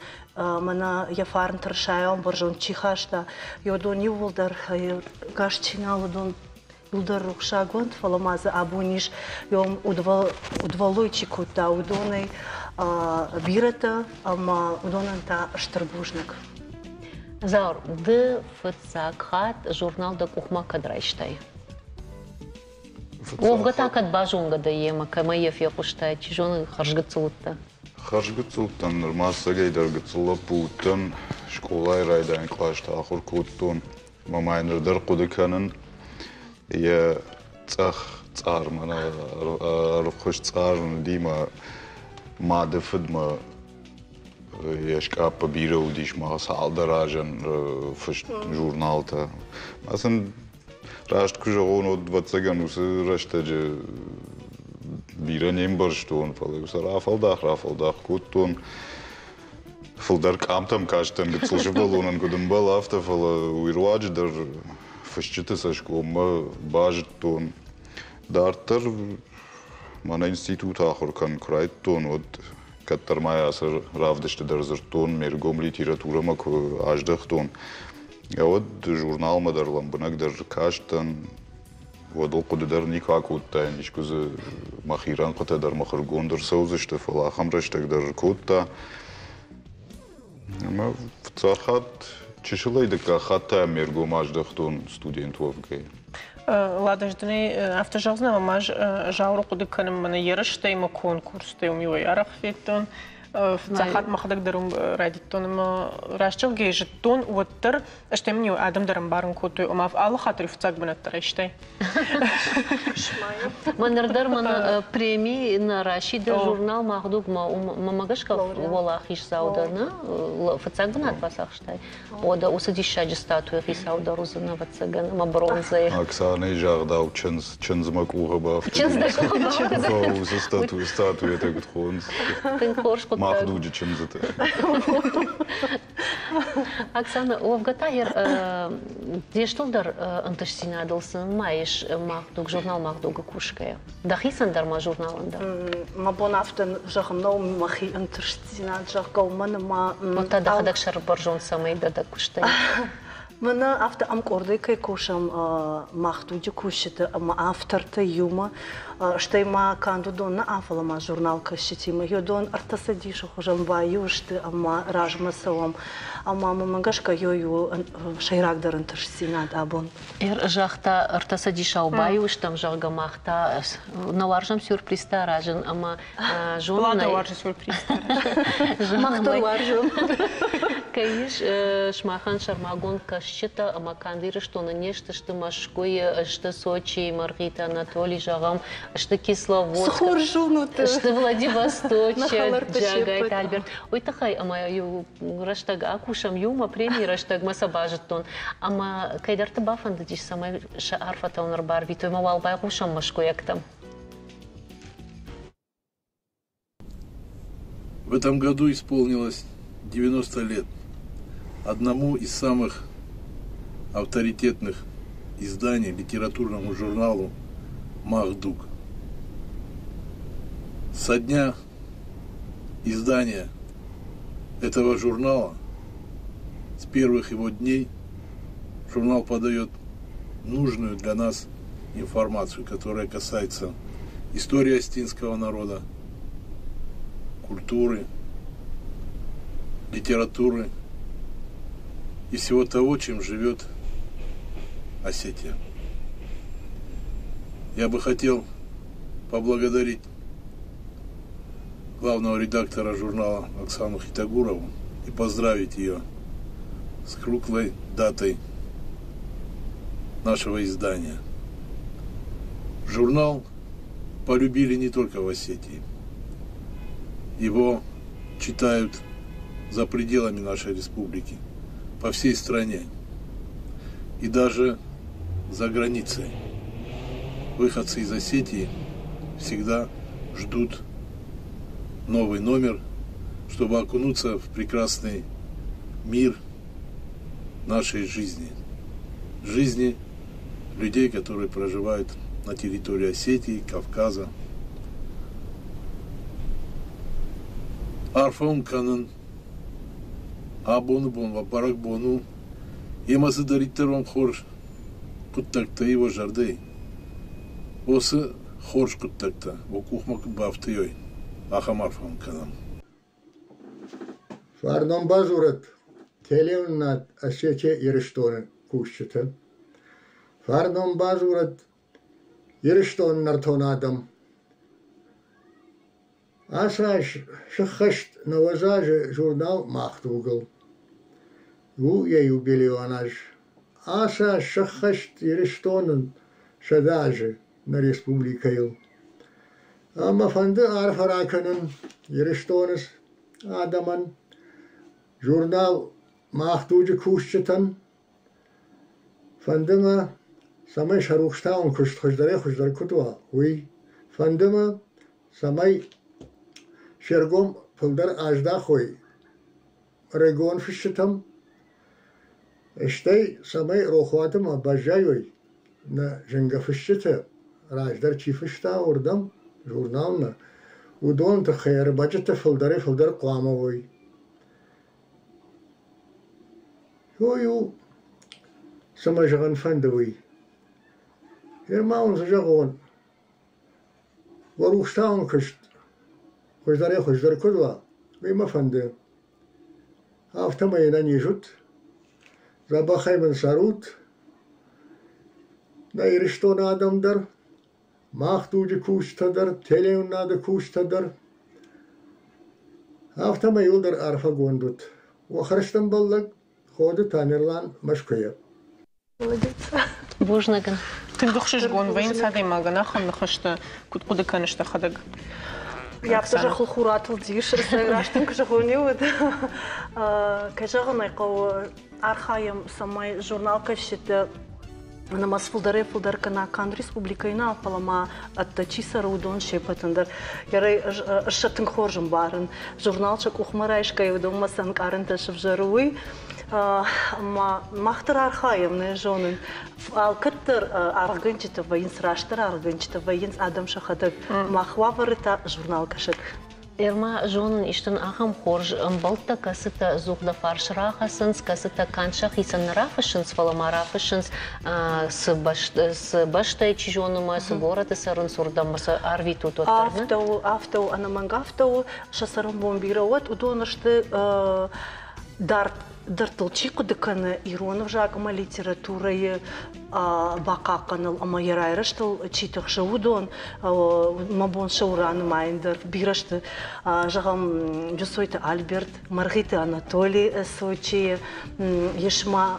мӕнӕ йӕ фарн тырысайау бӕрзонд чи хаста, уыдон иууылдӕр гас чи нал, уыдон иуылдӕр рухсаг уӕнт, фӕлӕ ма дзы абон ис удвӕллой чи кодта, уыдонӕй бирӕтӕ ӕмӕ уыдонӕн та стыр бузныг. Заур, ды фыццаг хатт журнал дӕ къухмӕ кӕд райстай? Уӕвгӕ та кӕд базонгӕ дӕ йемӕ, кӕмӕй йӕ фехъуыстай, чи зоны, хӕрзгыццыл уыдтӕ? Хӕрзгыццыл уыдтӕн, нырма ӕцӕгӕй дӕр гыццыл лӕппу уыдтӕн, скъолайы райдайӕн кълӕсты ахуыр кодтон. Мӕ ма ныр дӕр хъуыды кӕнын, йӕ цъӕх цъар, мӕнӕ ӕрвхуыз цъар уыди мӕ мады фыдмӕ йе скъаппы бирӕ уыдис ма цалдӕр азӕн фыст журналтӕ. Ма сын раст куы зӕгъон, уӕд ӕвӕццӕгӕн уыцы рӕстӕджы бирӕ не мбӕрстон, фӕлӕ сӕ рафӕлдах-рафӕлдах кодтон. Фылдӕр къамтӕм кастӕн гыццыл сывӕллонӕн куыд ӕмбӕлы, афтӕ, фӕлӕ уый руаджы дӕр фысджыты цӕсгоммӕ базыдтон. Дарддӕр мӕнӕ институты ахуыр кӕнын куы райдыдтон, уӕд кӕддӕр ма ацы равдысты дӕр дзырдтон, ме ргом литературӕмӕ куы аздӕхтон, уӕд журналмӕ дӕр лӕмбынӕгдӕр кастӕн, уӕд ыл хъуыды дӕр никуы акодтаин, искуы дзы мӕхи рӕнхъытӕ дӕр мыхуыргонд ӕрцӕудзысты, фӕлӕ ахӕм рӕстӕг дӕр кодта. Ӕмӕ фыццаг хатт чысылӕй дыккаг хатт та ме ргом аздӕхтон студент уӕвгӕйӕ. Лада, ӕз дын ӕй афтӕ зӕгъдзынӕн, ӕмӕ ӕз Зауыры хъуыды кӕнын мӕнӕ ерыстӕй мӕ конкурстӕй уым иуӕй арӕх федтон. Фыццаг хатт мӕхӕдӕг дӕр уым райдыдтон ӕмӕ раст зӕгъгӕйӕ зыдтон, уӕддӕр стӕй мын-иу адӕм дӕр ӕмбарын кодтой, ома алы хатт дӕр фыццаг бынӕттӕ райстай. Мӕныр дӕр мӕн преми нӕ расиды журнал Мах дуг-мӕ мӕ гӕсгӕ уӕлахиздзау дӕ, нӕ? Фыццаг бынат бацахстай. Уӕдӕ уыцы диссаджы статуйы хицау дӕр уыдзӕн, ӕвӕццӕгӕн, ӕмӕ бронзӕйы. Оксанайы загъдау чындз, чындз мӕ къухы бафтыд. Чындз дӕ къухы бафтыд. Уыцы статуэтӕ куыд хонынц? Тынг хорз хъуыддаг. Мах дуджы чындзытӕ. Оксана, уӕвгӕ та де стылдӕр ӕнтыстдзинадыл цы нымайыс Мах дуг, журнал Мах дуг-ы кусгӕйӕ? Дӕхицӕн дӕр ма журналӕн дӕр? Мӕ бон афтӕ зӕгъын нӕу мӕхи ӕнтыстдзинад, зӕгъгӕ, уымӕн ӕмӕ... Вот та дӕхӕдӕг сӕрбӕрзонд цӕмӕй дӕ дӕ куыстӕй? Мӕнӕ афтӕ ӕмкъордӕй кӕй кусӕм Мах дуджы кусджыты ӕмӕ автортӕ иумӕ, стӕй ма канд уыдон нӕ, фӕлӕ ма журналкӕсджытимӕ. Уыдон ӕртӕ цӕдисы хуызӕн баиу сты ӕмӕ размӕ цӕуӕм. Ӕмӕ мӕм гӕсгӕ ёй у сӕйрагдӕр ӕнтыстдзинад абон. Загъта, ӕртӕ цӕдисау баиу стӕм, зӕгъгӕ, мах та нӕ уарзӕм сюрпризтӕ аразын ӕмӕ зонын. Лада уарзы сюрпризтӕ. Мах дӕр уарзӕм. Кӕй ис сымахӕн сӕрмагонд кӕсджытӕ ӕмӕ канд Ирыстоны не сты, сты Мӕскуыйы, сты Сочийы, Мӕргъиты Анатолий, зӕгъӕм, сты Кисловодск, Цы хорз зонут! Сты Владивосточы, Джагайты Альберт. Уый тыххӕй ӕмӕ иу рӕстӕг акусӕм иумӕ, премийы рӕстӕгмӕ сӕ базыдтон. Ӕмӕ кӕйдӕрты бафӕндыдис, цӕмӕй сӕ арфӕтӕ уын ӕрбарвитой ӕмӕ уал байхъусӕм мӕскуыйӕгтӕм. В этом году исполнилось 90 лет одному из самых авторитетных изданий, литературному журналу «Махдуг». Со дня издания этого журнала, с первых его дней, журнал подает нужную для нас информацию, которая касается истории астинского народа, культуры, литературы и всего того, чем живет Осетия. Я бы хотел поблагодарить главного редактора журнала Оксану Хитагурову и поздравить ее с круглой датой нашего издания. Журнал полюбили не только в Осетии. Его читают за пределами нашей республики, по всей стране и даже за границей. Выходцы из Осетии всегда ждут новый номер, чтобы окунуться в прекрасный мир нашей жизни. Жизни людей, которые проживают на территории Осетии, Кавказа. Арфӕ уын кӕнын абоны бон уӕ бӕрӕгбон у, йемӕ цыдӕриддӕр уӕм хорз хъуыддӕгтӕ и уӕ зӕрдӕйы, уыцы хорз хъуыддӕгтӕ уӕ къухмӕ куыд бафтыой, ахӕм арфӕ уын кӕнӕм. Фарнон бадзурӕд телеуынынад Осетия Ирыстоны кусджытӕн. Фарнон бадзурӕд Ирыстоны нӕртон адӕм. Ацы аз сыххӕст 90 азы журнал «Мах дуг»-ыл. У йӕ юбилейон аз. Ацы аз сӕххӕст Ирыстоны 100 азы нӕ республикӕйыл. Ӕмӕ фӕнды арфӕ ракӕнын Ирыстоны адӕмӕн, журнал «Мах дуджы» кусджытӕн. Фӕнды мӕ, цӕмӕй сӕ рухстауӕн куыст хуыздӕрӕй-хуыздӕр куыд уа, уый. Фӕнды мӕ, цӕмӕй се ргом фылдӕр аздахой ӕрыгон фысджытӕм, стӕй цӕмӕй рохуаты ма баззайой нӕ зынгӕ фысджытӕ, раздӕр чи фыста, уырдӕм, журналмӕ, уыдон тыххӕй ӕрмӕджытӕ фылдӕрӕй-фылдӕр хъуамӕ уой. Уый у, цӕмӕй зӕгъын фӕнды, уый. Гъе ма уын цы зӕгъон, уӕ рухстауӕн куыст хуыздӕрӕй-хуыздӕр куыд уа, уый мӕ фӕнды. Афтӕмӕй ӕнӕниз ут, дзӕбӕхӕй мын цӕрут, нӕ Ирыстоны адӕм дӕр, мах дуджы кусджытӕ дӕр, телеуынынады кусджытӕ дӕр. Афтӕмӕй иуылдӕр арфӕгонд ут. Уӕ хӕрзтӕмбӕллӕг Ходы Тамерлан Мӕскуыйӕ. Молодец. Бузныг ын. Тынг ӕхсызгон вӕййынц адӕймагӕн ахӕм ныхӕстӕ, куыд хъуыды кӕныс дӕхӕдӕг? Афтӕ зӕххыл хур атылдис, раст ын куы зӕгъон, уӕд. Кӕй зӕгъын ӕй хъӕуы, архайӕм, цӕмӕй журналкӕсджытӕ нымӕц фылдӕрӕй-фылдӕр кӕна канд республикӕйы нӕ, фӕлӕ ма ӕддӕ чи цӕры, уыдон се ппӕтӕн дӕр. Ӕз сӕ тынг хорз ӕмбарын. Журнал сӕ къухмӕ райсгӕйӕ, уыдонмӕ цы ӕнкъарӕнтӕ сывзӕры, уый. Ӕмӕ мах дӕр архайӕм, нӕ зонын. Алкӕддӕр аргъгӕнджытӕ вӕййынц, растдӕр аргъгӕнджытӕ вӕййынц адӕм сӕхӕдӕг. Мах уавӕры та журналкӕсӕг. Ӕрма зонын истын ахӕм хорз ӕмбӕлттӕ, кӕцытӕ ӕдзух дӕ фарс рахӕцынц, кӕцытӕ канд сӕхицӕн нӕ рафыссынц, фӕлӕ ма рафыссынц, цы бӕстӕйы чи зоны мӕ, цы горӕты цӕрынц, уырдӕм сӕ арвитут уӕддӕр. Афтӕ у, афтӕ у, ӕнӕмӕнг афтӕ у. Сӕ цӕрӕнбон бирӕ уӕд, уыдон сты дард дӕрдтыл чи хъуыды кӕны ирон ӕвзаг ӕмӕ литературӕйы бахъахъхъӕныл ӕмӕ йӕ райрӕзтыл чи тыхсы, уыдон мӕ бон сӕ у ранымайын дӕр бирӕ сты. Зӕгъӕм, Джусойты Альберт, Мӕргъиты Анатоли Сочийы, ис ма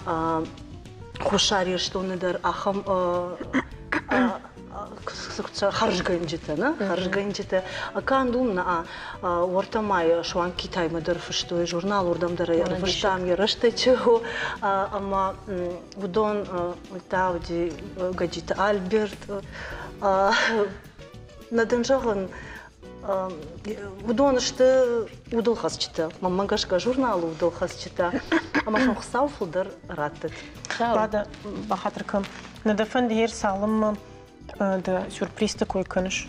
Хуссар Ирыстоны дӕр ахӕм хӕрзгӕнджытӕ, нӕ? Хӕрзгӕнджытӕ. Канд уым нӕ, уӕртӕ ма суанг Китаймӕ дӕр фыстой журнал, уырдӕм дӕр ӕрвыстам йӕ рӕстӕджы. Ӕмӕ уыдон та уыди Гӕджиты Альберт. Нӕ дын зӕгъын, уыдон сты удылхӕцджытӕ. Мӕнмӕ гӕсгӕ журналы удылхӕцджытӕ. Ӕмӕ сын Хуыцау фылдӕр раттӕд. Лада, бахатыр кӕн. Нӕ дӕ фӕнды ер цалынмӕ дӕ сюрпризты кой кӕныс?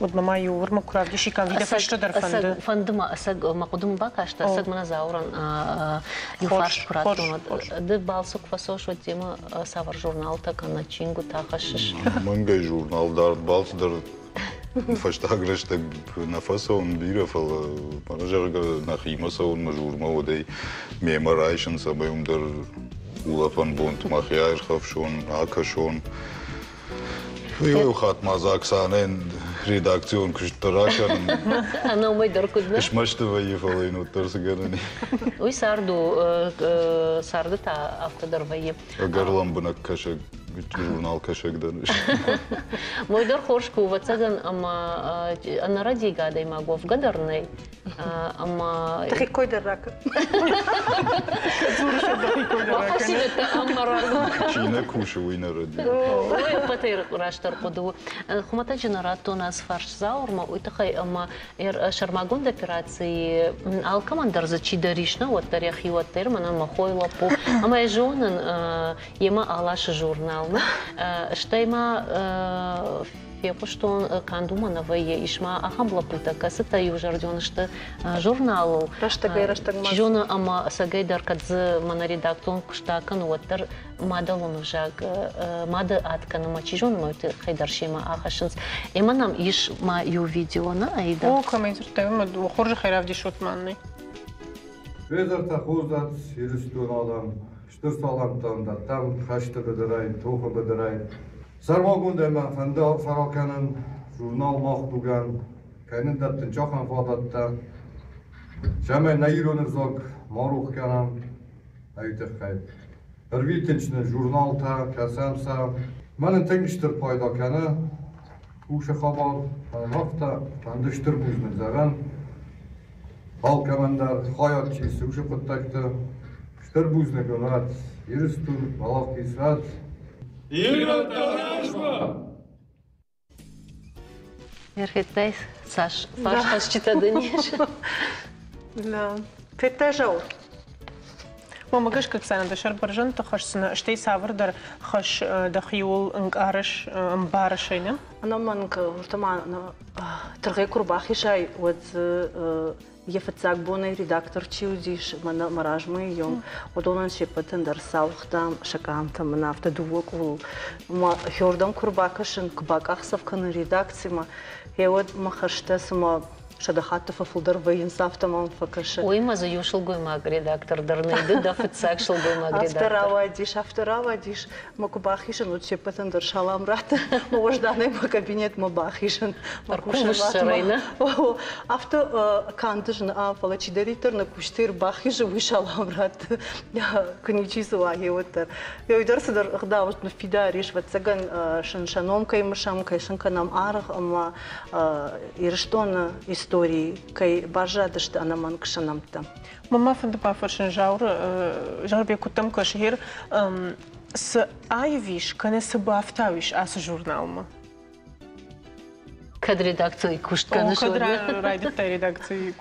Уӕдмӕ ма иу уырмӕ куы равдисиккам, видӕ фӕстӕдӕр фӕнды. Фӕнды мӕ, ӕцӕг мӕ хъуыдымӕ бакастӕ, ӕцӕг мӕнӕ Зауырӕн иу фарст куы радтон, ды балцы куы фӕцӕуыс, уӕд демӕ цавӕр журналтӕ кӕнӕ чингуытӕ хӕссыс? Мӕнгӕй журнал дард балц дӕр фӕстаг рӕстӕг нӕ фӕцӕуын бирӕ, фӕлӕ мӕнӕ зӕгъгӕ нӕхимӕ цӕуын мӕ журмӕ, уӕдӕй мемӕ райсын, цӕмӕй уым дӕр улӕфӕн бонты мӕхи аирхӕфсон, акӕсон. Иу хатт ма дзы Оксанӕйӕн редакцион куыст дӕр акӕнын. Ӕнӕ уымӕй дӕр куыд нӕ? Смӕсты вӕййы, фӕлӕ йын уӕддӕр цы гӕнӕн и. Уый цард у, царды та афтӕ дӕр вӕййы. Ӕгӕр лӕмбынӕг кӕсӕг журналкӕсӕг дӕн. Мой дӕр хорз куы ӕвӕццӕгӕн ӕмӕ ӕнӕрӕдийгӕ адӕймаг уӕвгӕ дӕр нӕй. Ӕмӕ Дӕхи кой дӕр ракӕн. Бахӕссинӕгтӕ ӕмӕ раргом Чи нӕ кусы, уый нӕ рӕдийы. Уый ӕппӕтӕй растдӕр хъуыды у. Хуымӕтӕджы нӕ радтон ацы фарст Зауырмӕ, уый тыххӕй ӕмӕ сӕрмагонд операцийы алкӕмӕн дӕр дзы чидӕр ис, нӕ уӕддӕр йӕхи уӕддӕр, мӕнӕн мӕ хойы лӕппу. Ӕмӕ йӕ зонын, йемӕ аласы журналмӕ. Стӕй ма фехъуыстон, канд уымӕ нӕ вӕййы, ис ма ахӕм лӕппутӕ, кӕцытӕ иузӕрдион сты журналыл. Рӕстӕгӕй-рӕстӕгмӕ. Чи зоны, ӕмӕ ӕцӕгӕй дӕр, кӕд дзы мӕнӕ редакцион куыст акӕны, уӕддӕр мадӕлон ӕвзаг мады ад кӕны ӕмӕ чи зоны, мӕ тыххӕй дӕр семӕ ахӕссынц. Ӕмӕ нӕм ис ма иу видео, нӕ, Аида? О, кӕмӕй дзырдтай, уымӕ хорзӕхӕй равдисут мӕнӕй. Федорта хорзат Ирыстон адӕм, стыр салӕмттӕм дӕттӕм хӕсты быдырӕй, тохы быдырӕй. Сӕрмагондӕй мӕ фӕнды арфӕ ракӕнын журнал Мах дугӕн, кӕй нын дӕттын ахӕм фадӕттӕ, цӕмӕй нӕ ирон ӕвзаг ма рох кӕнӕм, уый тыххӕй. Ӕрвитынц нын журналтӕ, кӕсӕм сӕ. Мӕнӕн тынг стыр пайда кӕны кусы хабар, афтӕ фӕнды стыр бузныг зӕгъӕн алкӕмӕн дӕр хайад чи исы уыцы хъуыддӕгты. Стыр бузныг уын уӕд, Ирыстон, уӕлахиз уӕд! Ирӕттӕ размӕ! Федтай, цас фарсхӕцджытӕ дын ис? Да. Федтай, Зауыр? Мӕнмӕ гӕсгӕ, Оксана, дӕ сӕр бӕрзӕндты хӕсдзынӕ, стӕй цавӕрдӕр хӕс дӕхиуыл ӕнкъарыс, ӕмбарыс ӕй, нӕ? Ӕнӕмӕнг, уырдӕм тыргъӕй куы рбахизай, уӕд дзы йӕ фыццаг бонӕй редактор чи уыдис, мӕнӕ мӕ размӕ йӕм, уыдонӕн се ппӕтӕн дӕр сауыгътам сӕ къамтӕ мын афтӕ дыууӕ къулыл. Мӕ хиуырдӕм куы рбакӕсын, куы бакъахдзӕф кӕнын редакцимӕ, гъеуӕд мӕ хӕстӕ цыма сӕдӕ хатты фӕфылдӕр вӕййынц, афтӕ мӕм фӕкӕсы. Уый ма дзы иу сылгоймаг редактор дӕр нӕй, ды дӕ фыццаг сылгоймаг редактор. Афтӕ рауадис, афтӕ рауадис. Мӕ куы бахизын, уӕд се ппӕтӕн дӕр салам раттын. Мӕ уӕзданӕй мӕ кабинетмӕ бахизын. Мӕ кусӕнуатмӕ. Афтӕ канд зын, фӕлӕ чидӕриддӕр нӕ куыстӕй ӕрбахизы, уый салам ратты. Куы ничи дзы уа, гъеуӕддӕр. Уый дӕр цыдӕр ӕгъдау ныффидар ис, ӕвӕццӕгӕн, сын сӕ ном кӕй мысӕм, кӕй сын кӕнӕм аргъ ӕмӕ Ирыстоны историйы кӕй баззадысты ӕнӕмӕнг сӕ нӕмттӕ. Мӕн ма фӕнды бафӕрсын Зауыры, Зауырбег, куыд дӕм кӕсы, гъер цы аив ис, кӕнӕ цы бафтауис ацы журналмӕ? Кӕд редакцийы куыст кӕныс? Кӕд райдыдтай редакцийы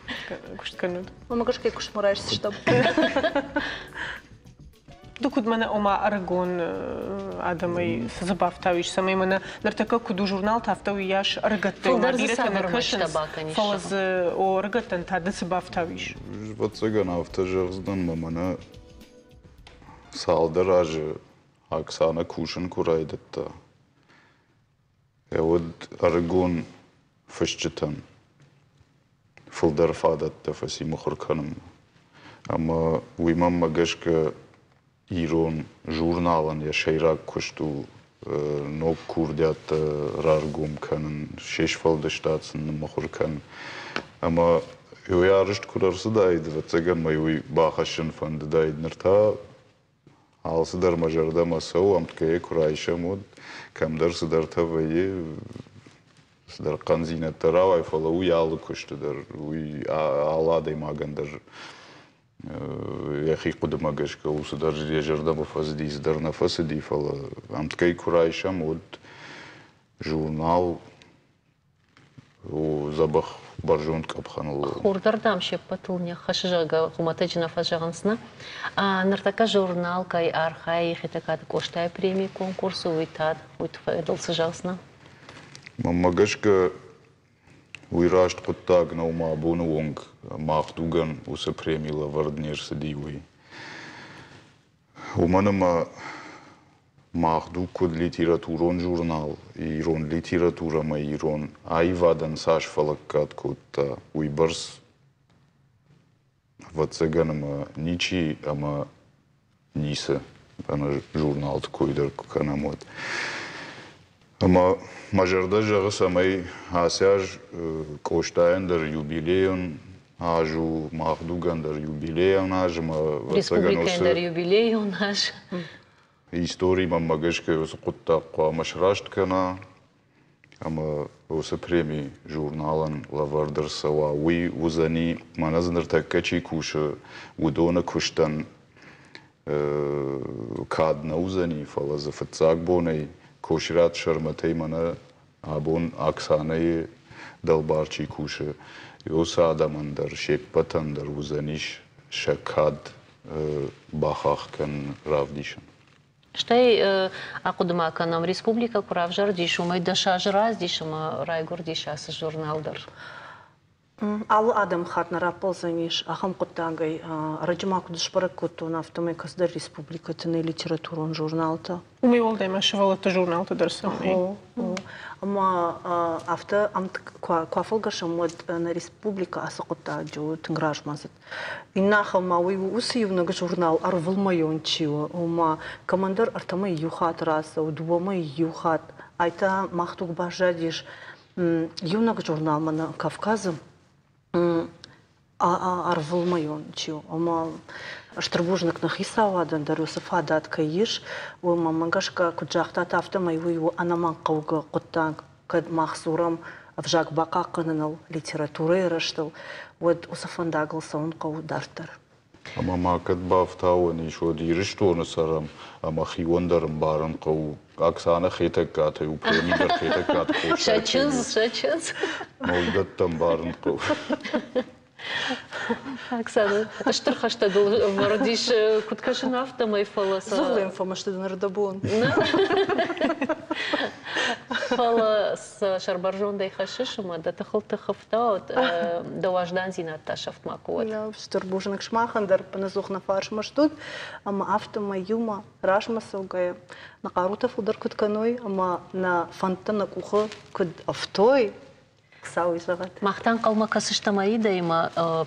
куыст кӕнын? Мӕ гӕсгӕ куыстмӕ райсдзыстӕм. Ды куыд мӕнӕ ома ӕрыгон адӕмӕй цы дзы бафтауис, цӕмӕй мӕнӕ ныртӕккӕ куыд у журналты, афтӕ уыйас ӕрыгӕттӕй Фылдӕр дзы бирӕтӕ нӕ цавӕр кӕсынц, мӕстӕ бакӕнис? фӕлӕ дзы о ӕрыгӕттӕн та ды цы бафтауис? Ӕвӕццӕгӕн, афтӕ зӕгъдзынӕн, мӕ мӕнӕ цалдӕр азы Оксана кусын куы райдыдта, уӕд ӕрыгон фысджытӕн фылдӕр фадӕттӕ фӕци мыхуыр кӕнынмӕ. Ӕмӕ уый мӕнмӕ гӕсгӕ ирон журналӕн йӕ сӕйраг куыст у ног курдиаттӕ раргом кӕнын, се сфӕлдыстад сын ныммыхуыр кӕнын. Ӕмӕ уый арӕзт куы ӕрцыдаид, ӕвӕццӕгӕн мӕ уый бахӕссын фӕндыдаид. Ныр та алцыдӕр мӕ зӕрдӕмӕ цӕуы, ӕмткӕй куы райсӕм, уӕд кӕмдӕр цыдӕртӕ вӕййы, цыдӕр хъӕндзинӕдтӕ рауайы, фӕлӕ уый алы куысты дӕр, уый алы адӕймагӕн дӕр йӕхи хъуыдымӕ гӕсгӕ у, цыдӕр йӕ зӕрдӕмӕ фӕцыди, цыдӕр нӕ фӕцыди, фӕлӕ ӕмткӕй куы райсӕм, уӕд журнал у дзӕбӕх бӕрзонд къӕпхӕныл. Хур дӕр, дам, се ппӕтыл не ххӕссы, зӕгъгӕ, хуымӕтӕджы нӕ фӕзӕгъынц, нӕ? Ныртӕккӕ журнал кӕй архайы Хетӕгкаты Къостайы премийы конкурсы, уый та уый фӕдыл цы зӕгъдзынӕ? Мӕнмӕ гӕсгӕ, уый раст хъуыддаг нӕу ма абоны онг мах дугӕн уыцы преми лӕвӕрд не рцыди, уый. Уымӕн ӕмӕ Мах дуг куыд литературон журнал, ирон литературӕмӕ ирон аивадӕн цас фӕлӕггад кодта, уыйбӕрц, ӕвӕццӕгӕн, ӕмӕ ничи ӕмӕ ницы ӕнӕ журналты кой дӕр куы кӕнӕм, уӕд. Ӕмӕ мӕ зӕрдӕ зӕгъы, цӕмӕй ацы аз Къостайӕн дӕр юбилейон аз у, мах дугӕн дӕр юбилейон аз ӕмӕ Республикӕйӕн дӕр юбилейон аз. Истори мӕнмӕ гӕсгӕ уыцы хъуыддаг хъуамӕ сраст кӕна ӕмӕ уыцы преми журналӕн лӕвӕрд ӕрцӕуа. Уый уыдзӕни, мӕнӕ дзы ныртӕккӕ чи кусы, уыдоны куыстӕн кад нӕ уыдзӕни, фӕлӕ дзы фыццаг бонӕй Косират Сӕрмӕтӕй мӕнӕ абон Оксанӕйы дӕлбар чи кусы, уыцы адӕмӕн дӕр се ппӕтӕн дӕр уыдзӕнис сӕ кад бахахх кӕнын, равдисын. Стӕй ахъуыды ма кӕнӕм, республикӕ куы равзӕрдис, уымӕй 10 азы раздис ӕмӕ райгуырдис ацы журнал дӕр. Алы адӕмыхатт нӕ раппӕлдзӕнис ахӕм хъуыддагӕй. Ӕрӕджы ма куыд сбӕрӕг кодтон, афтӕмӕй кӕцыдӕр республикӕты нӕй литературон журналтӕ. Уымӕй уӕлдай ма сывӕллӕтты журналтӕ дӕр цӕуы. Ӕмӕ афтӕ куы афӕлгӕсӕм, уӕд нӕ республикӕ ацы хъуыддаджы у тынг размӕдзыд. Иннӕ ахӕм ма уый у уыцы иунӕг журнал ӕрвылмӕйон чи у, ома кӕмӕндӕр ӕртӕмӕй иу хатт рацӕуы, дыууӕмӕй иу хатт. Ай та мах дуг баззадис иунӕг журнал мӕнӕ Кавказы ӕрвылмӕйон чи у, ома стыр бузныг нӕ хицауадӕн дӕр уыцы фадат кӕй ис, уымӕ мӕ гӕсгӕ, куыд загътат, афтӕмӕй уый у ӕнӕмӕнгхъӕугӕ хъуыддаг. Кӕд мах дзурӕм ӕвзаг бахъахъхъӕныныл, литературӕйы рӕзтыл, уӕд уыцы фӕндагыл цӕуын хъӕуы дарддӕр. Ӕмӕ ма кӕд бафтауӕн ис, уӕд Ирыстоны цӕрӕм ӕмӕ хион дӕр ӕмбарын хъӕуы. Оксана Хетӕгкатӕй у преми дӕр Хетӕгкаты Къостайы. Сӕ чындз, сӕ чындз. Уыдӕттӕ ӕмбарын хъӕуы. Оксана, стыр хӕстӕ дыл ӕвӕрд ис, куыд кӕсын, афтӕмӕй, фӕлӕ сӕ... Зыгъуылӕм фӕмӕсты дын ӕрдӕбон. Фӕлӕ сӕ сӕрбӕрзондӕй хӕссыс ӕмӕ дӕ тыхыл тых ӕфтауӕд, дӕ уӕздандзинад та сӕфт макуы уӕд. Стыр бузныг сымахӕн дӕр, ӕппынӕдзух нӕ фарсмӕ стут, ӕмӕ афтӕмӕй иумӕ размӕ цӕугӕйӕ нӕ хъарутӕ фылдӕр куыд кӕной ӕмӕ нӕ фӕндтӕ нӕ къухы куыд ӕфтой, Хуыцауи зӕгъӕд. Мах та ӕнхъӕлмӕ кӕсыстӕм Аидӕимӕ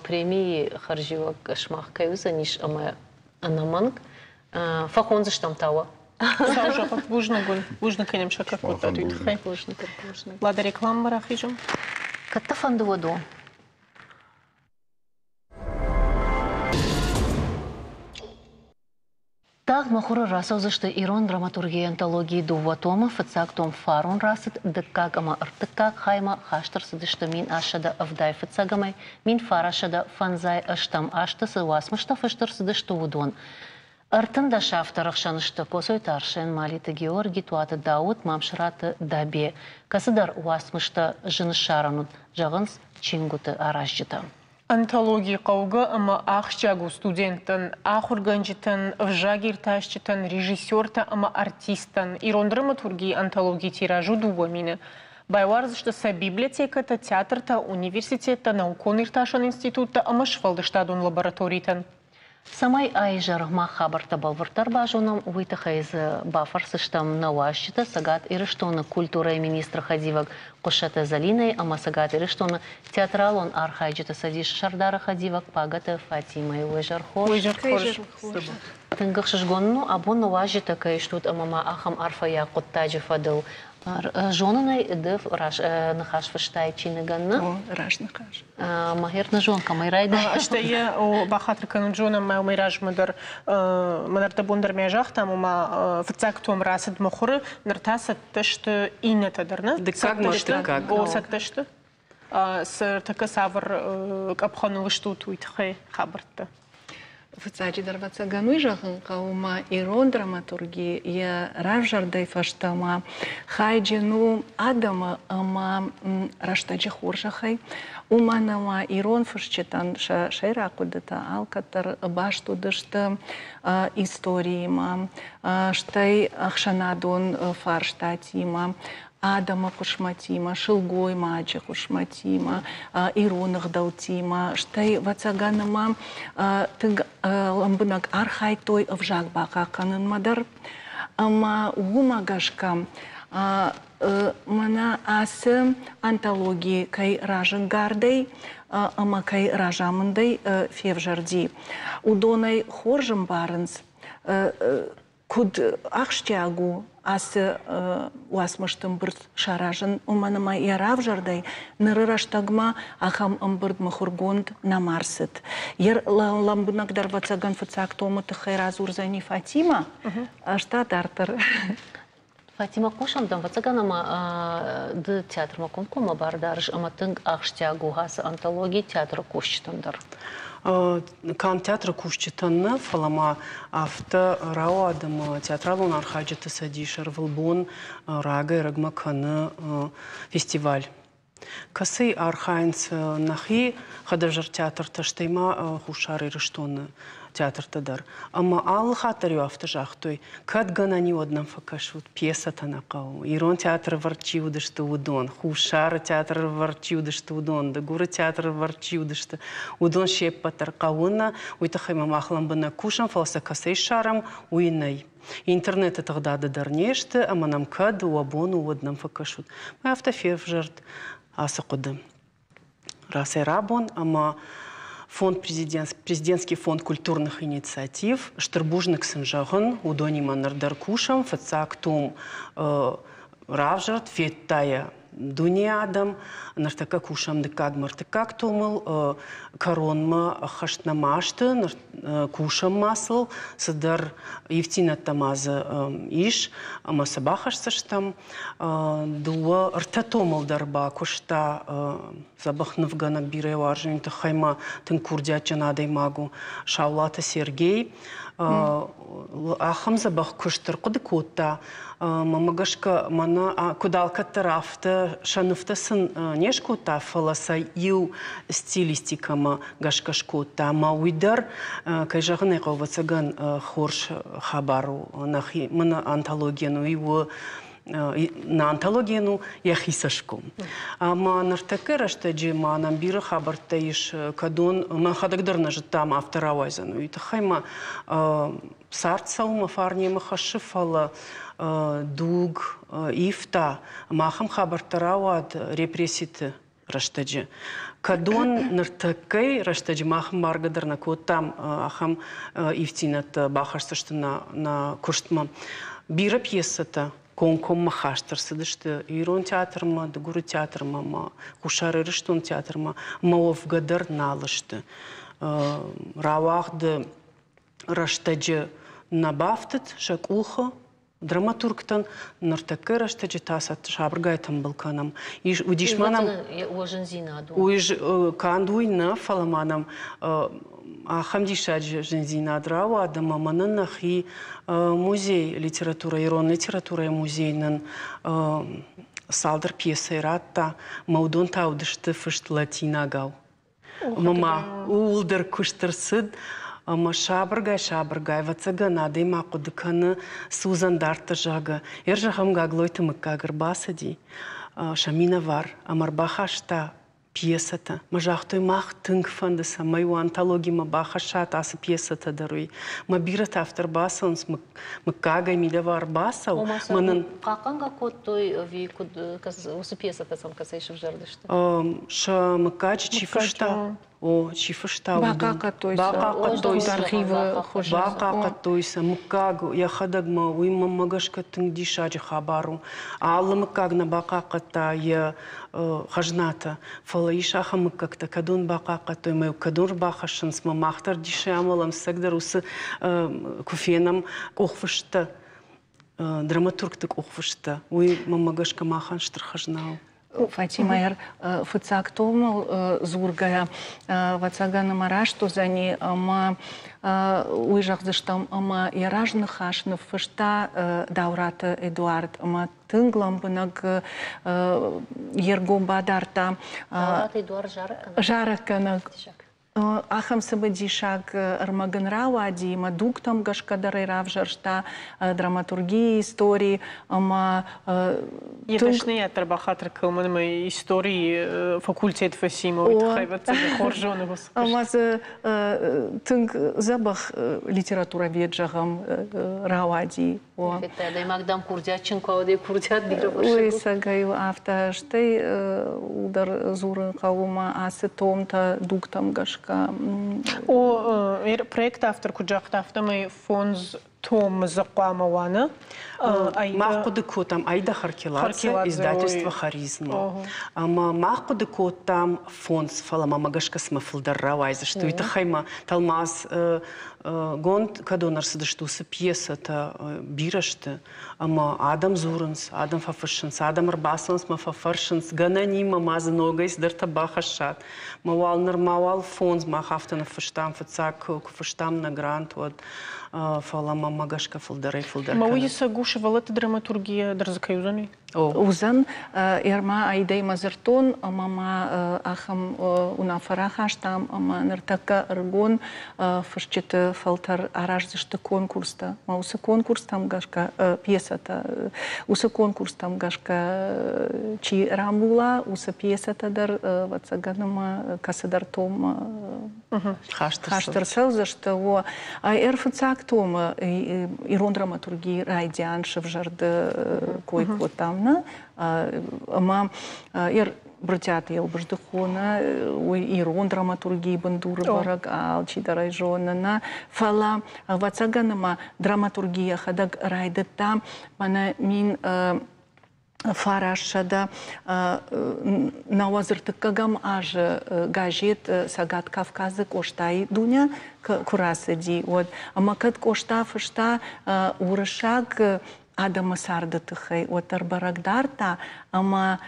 премийы хӕрзиуӕг сымах кӕй уыдзӕнис ӕмӕ ӕнӕмӕнг фӕхондзыстӕм та уӕ. Хуыцау зӕгъӕд, бузныг уын. Бузныг кӕнӕм сӕ кӕд кодтат, уый тыххӕй. Бузныг. Лада рекламӕмӕ рахизӕм. Кӕд дӕ фӕнды, уӕд у. Тагъд мыхуыры рацӕудзысты ирон драматургийы антологийы дыууӕ томы. Фыццаг том фарон рацыд, дыккаг ӕмӕ ӕртыккаг хаймӕ хаст ӕрцыдысты 1875-ӕмӕ 1958 азты цы уацмыстӕ фыст ӕрцыдысты, уыдон. 13 авторы хсӕн сты Коцойты Арсен, Малиты Георги, Туаты Дауыт, Мамсыраты Дӕбе. Кӕцыдӕр уацмыстӕ зын ссарӕн уыд, зӕгъынц чингуыты аразджытӕ. Антологи хъӕугӕ ӕмӕ ахсджиаг у студенттӕн, ахуыргӕнджытӕн, ӕвзагиртасджытӕн, режиссертӕ ӕмӕ артисттӕн. Ирон драматургийы антологийы тираж у 2 000. Байуардзысты сӕ библиотекӕтӕ, театртӕ, университеттӕ, наукон-иртасӕн институттӕ ӕмӕ сфӕлдыстадон лабораторитӕн. Цӕмӕй а-изӕр мах хабӕрттӕ бӕлвырддӕр базонӕм, уый тыххӕй дзы бафӕрсдзыстӕм нӕ уазджытӕ Цӕгат Ирыстоны культурӕйы министры хӕдивӕг Хъуыссӕты Зӕлинӕйы ӕмӕ Цӕгат Ирыстоны театралон архайджыты цӕдисы сӕрдары хӕдивӕг Пагӕты Фатимӕйы. Уе зӕр хорз! Уе зӕр хорз! Тынг ӕхсызгон у, абон нӕ уазджытӕ кӕй стут ӕмӕ ма ахӕм арфӕйаг хъуыддаджы фӕдыл. Зонын ӕй, ды ныхас фыстай чиныгӕн, нӕ? О, раст ныхас. Махер нӕ зон, кӕмӕй райдайа. Стӕй йӕ бахатыр кӕнут, зонӕм ма уымӕй размӕ дӕр, мӕн ӕрдӕбон дӕр мӕ загътам, ома фыццаг том рацыд мыхуыры, ныр та цӕттӕ сты иннӕтӕ дӕр, нӕ? Дыккаг ма дыккаг. О, цӕттӕ сты. Цы тӕккӕ цавӕр къӕпхӕныл стут, уый тыххӕй хабӕрттӕ. Фыццаджыдӕр, ӕвӕццӕгӕн, уый зӕгъын хъӕуы, ма ирон драматурги йӕ равзӕрдӕй фӕстӕмӕ хайджын у адӕмы ӕмӕ рӕстӕджы хорзӕхӕй, уымӕн ӕмӕ ирон фысджытӕн сӕ сӕйраг хъуыдытӕ алкӕддӕр баст уыдысты историимӕ, стӕй ӕхсӕнадон фарстатимӕ, адӕмы хъысмӕтимӕ, сылгоймаджы хъысмӕтимӕ, ирон ӕгъдӕуттимӕ, стӕй, ӕвӕццӕгӕн, ӕмӕ тынг лӕмбынӕг архайдтой ӕвзаг бахъахъхъӕнынмӕ дӕр. Ӕмӕ уымӕ гӕсгӕ мӕнӕ ацы антологи кӕй разӕнгардӕй ӕмӕ кӕй разамындӕй февзӕрди, уыдонӕй хорз ӕмбарынц. Куыд ахсджиаг у ацы уацмысты ӕмбырд саразын, уымӕн ӕмӕ йӕ равзӕрдӕй ныры рӕстӕгмӕ ахӕм ӕмбырд мыхуыргонд нӕма рцыд. Йӕ лӕмбынӕгдӕр, ӕвӕццӕгӕн, фыццаг томы тыххӕй радзурдзӕни Фатимӕ, ӕз та дарддӕр. Фатимӕ, хъусӕм дӕм, ӕвӕццӕгӕн, ӕмӕ ды театрмӕ комкоммӕ бар дарыс ӕмӕ тынг ахсджиаг у ацы антологи театры кусджытӕн дӕр. Канд театры кусджытӕн нӕ, фӕлӕ ма афтӕ рауад, ӕмӕ театралон архайджыты цӕдис ӕрвылбон рагӕй-ӕрӕгмӕ кӕны фестиваль, кӕцыйы архайынц нӕхи хӕдӕвзӕр театртӕ, стӕй ма Хуссар Ирыстоны театртӕ дӕр. Ӕмӕ алы хатт дӕр-иу афтӕ загътой, кӕд гӕнӕн и, уӕд нӕм фӕкӕсут, пьесӕтӕ нӕ хъӕуы. Ирон театры ӕвӕрд чи уыдысты, уыдон, Хуссары театры ӕвӕрд чи уыдысты, уыдон, Дыгуры театры ӕвӕрд чи уыдысты, уыдон се ппӕт дӕр хъӕуы нӕ, уый тыххӕй ма мах лӕмбынӕг кусӕм, фӕлӕ сӕ кӕцӕй ссарӕм, уый нӕй. Интернеты тыгъдады дӕр не сты, ӕмӕ нӕм кӕд уӕ бон у, уӕд нӕм фӕкӕсут. Мӕ афтӕ февзӕрд ацы хъуыды. Рацӕй-рабон ӕмӕ фонд президентский фонд культурных инициатив стыр бузныг сын зӕгъын, уыдонимӕ ныр дӕр кусӕм. Фыццаг том равзӕрд, федта йӕ дуне адӕм. Ныртӕккӕ кусӕм дыккаг ӕртыккаг томыл, кӕронмӕ ӕххӕст нӕма сты, кусӕм ма сыл, цыдӕр ивддзинӕдтӕ ма дзы ис ӕмӕ сӕ бахӕсдзыстӕм. Дыууӕ, ӕртӕ томыл дӕр бакуыста дзӕбӕх нывгӕнӕг, бирӕ уарзын тыххӕй ма тынг курдиатджын адӕймаг у Саулаты Сергей. Ахӕм дзӕбӕх куыст ӕрхъуыды кодта, мӕнмӕ гӕсгӕ, мӕнӕ куыд алкӕддӕр, афтӕ сӕ нывтӕ сын не скодта, фӕлӕ сӕ иу стилистикӕмӕ гӕсгӕ скодта. Ӕмӕ уый дӕр, кӕй зӕгъын ӕй хъӕуы, ӕвӕццӕгӕн, хорз хабар у. Нӕхи мӕнӕ антологийӕн уый у нӕ антологийӕн у йӕхи цӕсгом. Ӕмӕ ныртӕккӕ рӕстӕджы ма нӕм бирӕ хабӕрттӕ ис, кӕдон мӕхӕдӕг дӕр нӕ зыдтам, афтӕ рауайдзӕн. Уый тыххӕй ма цард цӕуы мӕ фарнемӕ хӕссы, фӕлӕ дуг ивта, ӕмӕ ахӕм хабӕрттӕ рауад репресситы рӕстӕджы. Кӕдон ныртӕккӕйы рӕстӕджы мах ӕмбаргӕ дӕр нӕ кодтам, ахӕм ивддзинӕдтӕ бахӕсдзысты нӕ куыстмӕ. Бирӕ пьесӕтӕ комкоммӕ хаст ӕрцыдысты Ирон театрмӕ, Дыгуры театрмӕ ӕмӕ Хуссар Ирыстоны театрмӕ, ӕмӕ уӕвгӕ дӕр нал сты. Рауагъды рӕстӕджы нӕ бафтыд сӕ къухы драматургтӕн, ныртӕккӕ рӕстӕджы та сӕ сабыргай тымбыл кӕнӕм. Ис, уыдис ма нӕм Уый канд уый нӕ, фӕлӕ ма нӕм ахӕм диссаджы зындзинад рауад, ӕмӕ мӕнӕн нӕхи музей литературӕ, ирон литературӕйы музей нын цалдӕр пьесӕйы радта, мӕ уыдон та уыдысты фыст латинагау. Ӕмӕ ма ууыл дӕр куыст ӕрцыд, ӕмӕ сабыргай-сабыргай, ӕвӕццӕгӕн, адӕймаг хъуыды кӕны, цы уыдзӕн дарддӕр, зӕгъгӕ. Йе зӕгъӕм, Гаглойты мыггаг ӕрбацыди сӕ минӕвар ӕмӕ ӕрбахаста пьесӕтӕ. Мӕ загътой, мах тынг фӕнды, цӕмӕй уӕ антологимӕ бахӕссат ацы пьесӕтӕ дӕр уый. Мӕ бирӕтӕ афтӕ ӕрбацӕуынц мыггагӕй мидӕвӕ ӕрбацӕуы. Ома сӕ хъахъхъӕнгӕ кодтой ӕви куыд, уыцы пьесӕтӕ сӕм кӕцӕй сывзӕрдысты? Сӕ мыггаджы чи фыста, о, чи фыста, бахъахъхъӕдтой сӕ архивы хуызы. Бахъахъхъӕдтой сӕ мыггаг йӕхӕдӕг ма уый мӕнмӕ гӕсгӕ тынг диссаджы хабар у. Алы мыггаг нӕ бахъахъхъӕдта йӕ хӕзнатӕ, фӕлӕ ис ахӕм мыггӕгтӕ, кӕдон бахъахъхъӕдтой ӕмӕ кӕдон ӕрбахӕссынц, мӕ мах дӕр дисӕй амӕлӕм, цӕгдӕр уыцы куы фенӕм къухфысттӕ, драматургты къухфысттӕ, уый мӕнмӕ гӕсгӕ махӕн стыр хӕзна у. Фатимӕ фыццаг томыл дзургӕйӕ, ӕвӕццӕгӕн, ӕмӕ раст уыдзӕни, ӕмӕ уый зӕгъдзыстӕм, ӕмӕ йӕ разныхас ныффыста Даураты Эдуард, ӕмӕ тынг лӕмбынӕг йе ргом бадардта. Даураты Эдуард зарӕггӕнӕг? Зарӕггӕнӕг. Ахӕм цымыдисаг ӕрмӕг ын рауади, ӕмӕ дугтӕм гӕсгӕ дӕр ӕй равзӕрста драматургийы истори ӕмӕ Йӕ дӕсныйад дӕр бахатыр кӕнын ӕмӕ историйы факультет фӕци, уый тыххӕй ӕвӕццӕгӕн хорз зоны уыцы куыст. Ӕмӕ дзы тынг дзӕбӕх литературовед, зӕгъӕм, рауади. Федтай, адӕймаг дӕм курдиатджын куы уа, курдиат бирӕ Уый цӕгӕй афтӕ, стӕй дӕр дзурын хъӕуы ма ацы томтӕ дугтӕм гӕсгӕ. О, проекты автор куыд загъта, афтӕмӕй фондз томы дзы хъуамӕ уа, нӕ? Мах хъуыды кодтам Аида Харкеладзе, издательство Харизма. Ӕмӕ мах хъуыды кодтам фондз, фӕлӕ мӕ гӕсгӕ цыма фылдӕр рауайдзысты. Уый тыххӕй ма тӕлмац гонд кӕдон ӕрцыдысты, уыцы пьесӕтӕ бирӕ сты. Ӕмӕ адӕм дзурынц, адӕм фӕфыссынц, адӕм ӕрбацӕуынц мӕ фӕфӕрсынц, гӕнӕнимӕ ма дзы ногӕй цыдӕртӕ бахӕссат. Мӕ уал нырма уал фондз мах афтӕ ныффыстам, фыццаг куы фыстам нӕ грант, уӕд фӕлӕ мӕмӕ гӕсгӕ фылдӕрӕй фылдӕр Мӕ уый ӕцӕг у сывӕллӕтты драматургийӕ дӕр дзы кӕй уыдзӕни? Уыдзӕн. Ӕрма айдӕй мӕ дзырдтон ӕмӕ ма ахӕм уынаффӕ рахастам, ӕмӕ ныртӕккӕ ӕрыгон фысджыты фӕлтӕр араздзысты конкурстӕ. Мӕ уыцы конкурстӕм гӕсгӕ пьесӕтӕ, уыцы конкурстӕм гӕсгӕ чи рамбула, уыцы пьесӕтӕ дӕр, ӕвӕццӕгӕн, ӕмӕ кӕцыдӕр томмӕ хаст ӕрцӕудзысты. О, ӕрфыццаг томы ирон драматургийы райдиан сывзӕрды кой кодтам, нӕ? Ӕмӕ Брытъиаты Елбыздыхъо нӕ, уый ирон драматургийы бындуры бӕрӕг алчидӕр ӕй зоны, нӕ? Фӕлӕ, ӕвӕццӕгӕн, ӕмӕ драматурги йӕхӕдӕг райдыдта мӕнӕ 1993 азы газет Цӕгат Кавказы Къостайы Дуня куы рацыди, уӕд. Ӕмӕ кӕд Къоста фыста уырыссаг адӕмы царды тыххӕй, уӕддӕр бӕрӕг дардта, ӕмӕ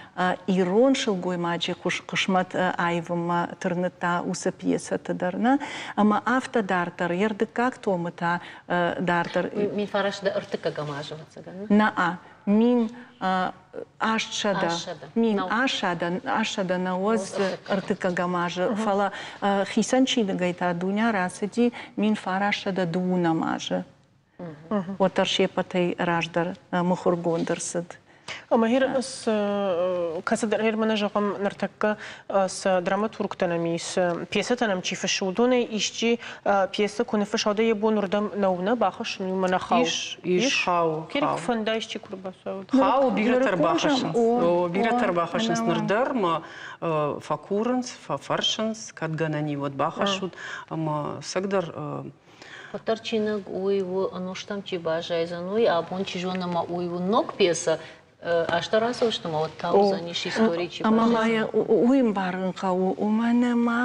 ирон сылгоймаджы хъысмӕт аивынмӕ тырныдта уыцы пьесӕты дӕр, нӕ? Ӕмӕ афтӕ дарддӕр, йе рдыккаг томы та дарддӕр. 1930 азы, ӕвӕццӕгӕн. Нӕ, 1890 азы, фӕлӕ хицӕн чиныгӕй та Дуня рацыди 1920 азы. Уӕддӕр се ппӕтӕй раздӕр мыхуыргонд ӕрцыд. Ӕмӕ гьер кӕцыдӕр гьер мӕнӕ зӕгъӕм, ныртӕккӕ цы драматургтӕ нӕм ис, пьесӕтӕ нӕм чи фыссы, уыдонӕй исчи пьесӕ куы ныффысса, уӕд йӕ бон уырдӕм нӕу нӕ бахӕссын, уый мӕнӕ хауы. Ис, ис, хауы. Кӕд куы фӕнда исчи куы рбацӕуӕд. Хауы, бирӕтӕ рбахӕссынц. О, бирӕтӕ рбахӕссынц ныр дӕр ма фӕкурынц, фӕфӕрсынц, кӕд гӕнӕн и, уӕд бахӕссут. Ӕмӕ цӕгдӕр Уӕддӕр чиныг уый у, ӕнустӕм чи баззайдзӕн, уый абон чи зоны ӕмӕ уый у ног пьесӕ, азтӕ рацӕудзысты ӕмӕ уӕд та уыдзӕнис истори чи Ӕмӕ ма йӕ уый ӕмбарын хъӕуы, уымӕн ӕмӕ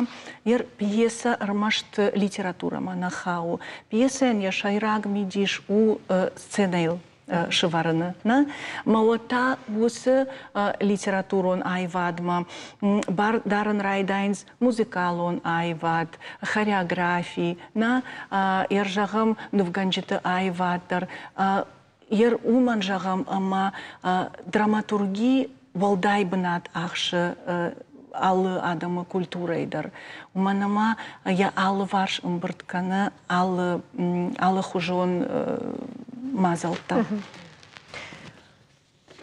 йӕ пьесӕ ӕрмӕст литературӕмӕ нӕ хауы. Пьесӕйӕн йӕ сӕйраг мидис у сценӕйыл сывӕрыны. Нӕ? Мӕ уӕд та уыцы литературон аивадмӕ бар дарын райдайынц музыкалон аивад, хореографи, нӕ, ӕр зӕгъӕм, нывгӕнджыты аивад дӕр. Ер уымӕн зӕгъӕм, ӕмӕ драматурги уӕлдай бынат ахсы алы адӕмы культурӕйы дӕр. Уымӕн ӕмӕ йӕ алыварс ӕмбырд кӕны алы алыхуызон мадзӕлттӕ.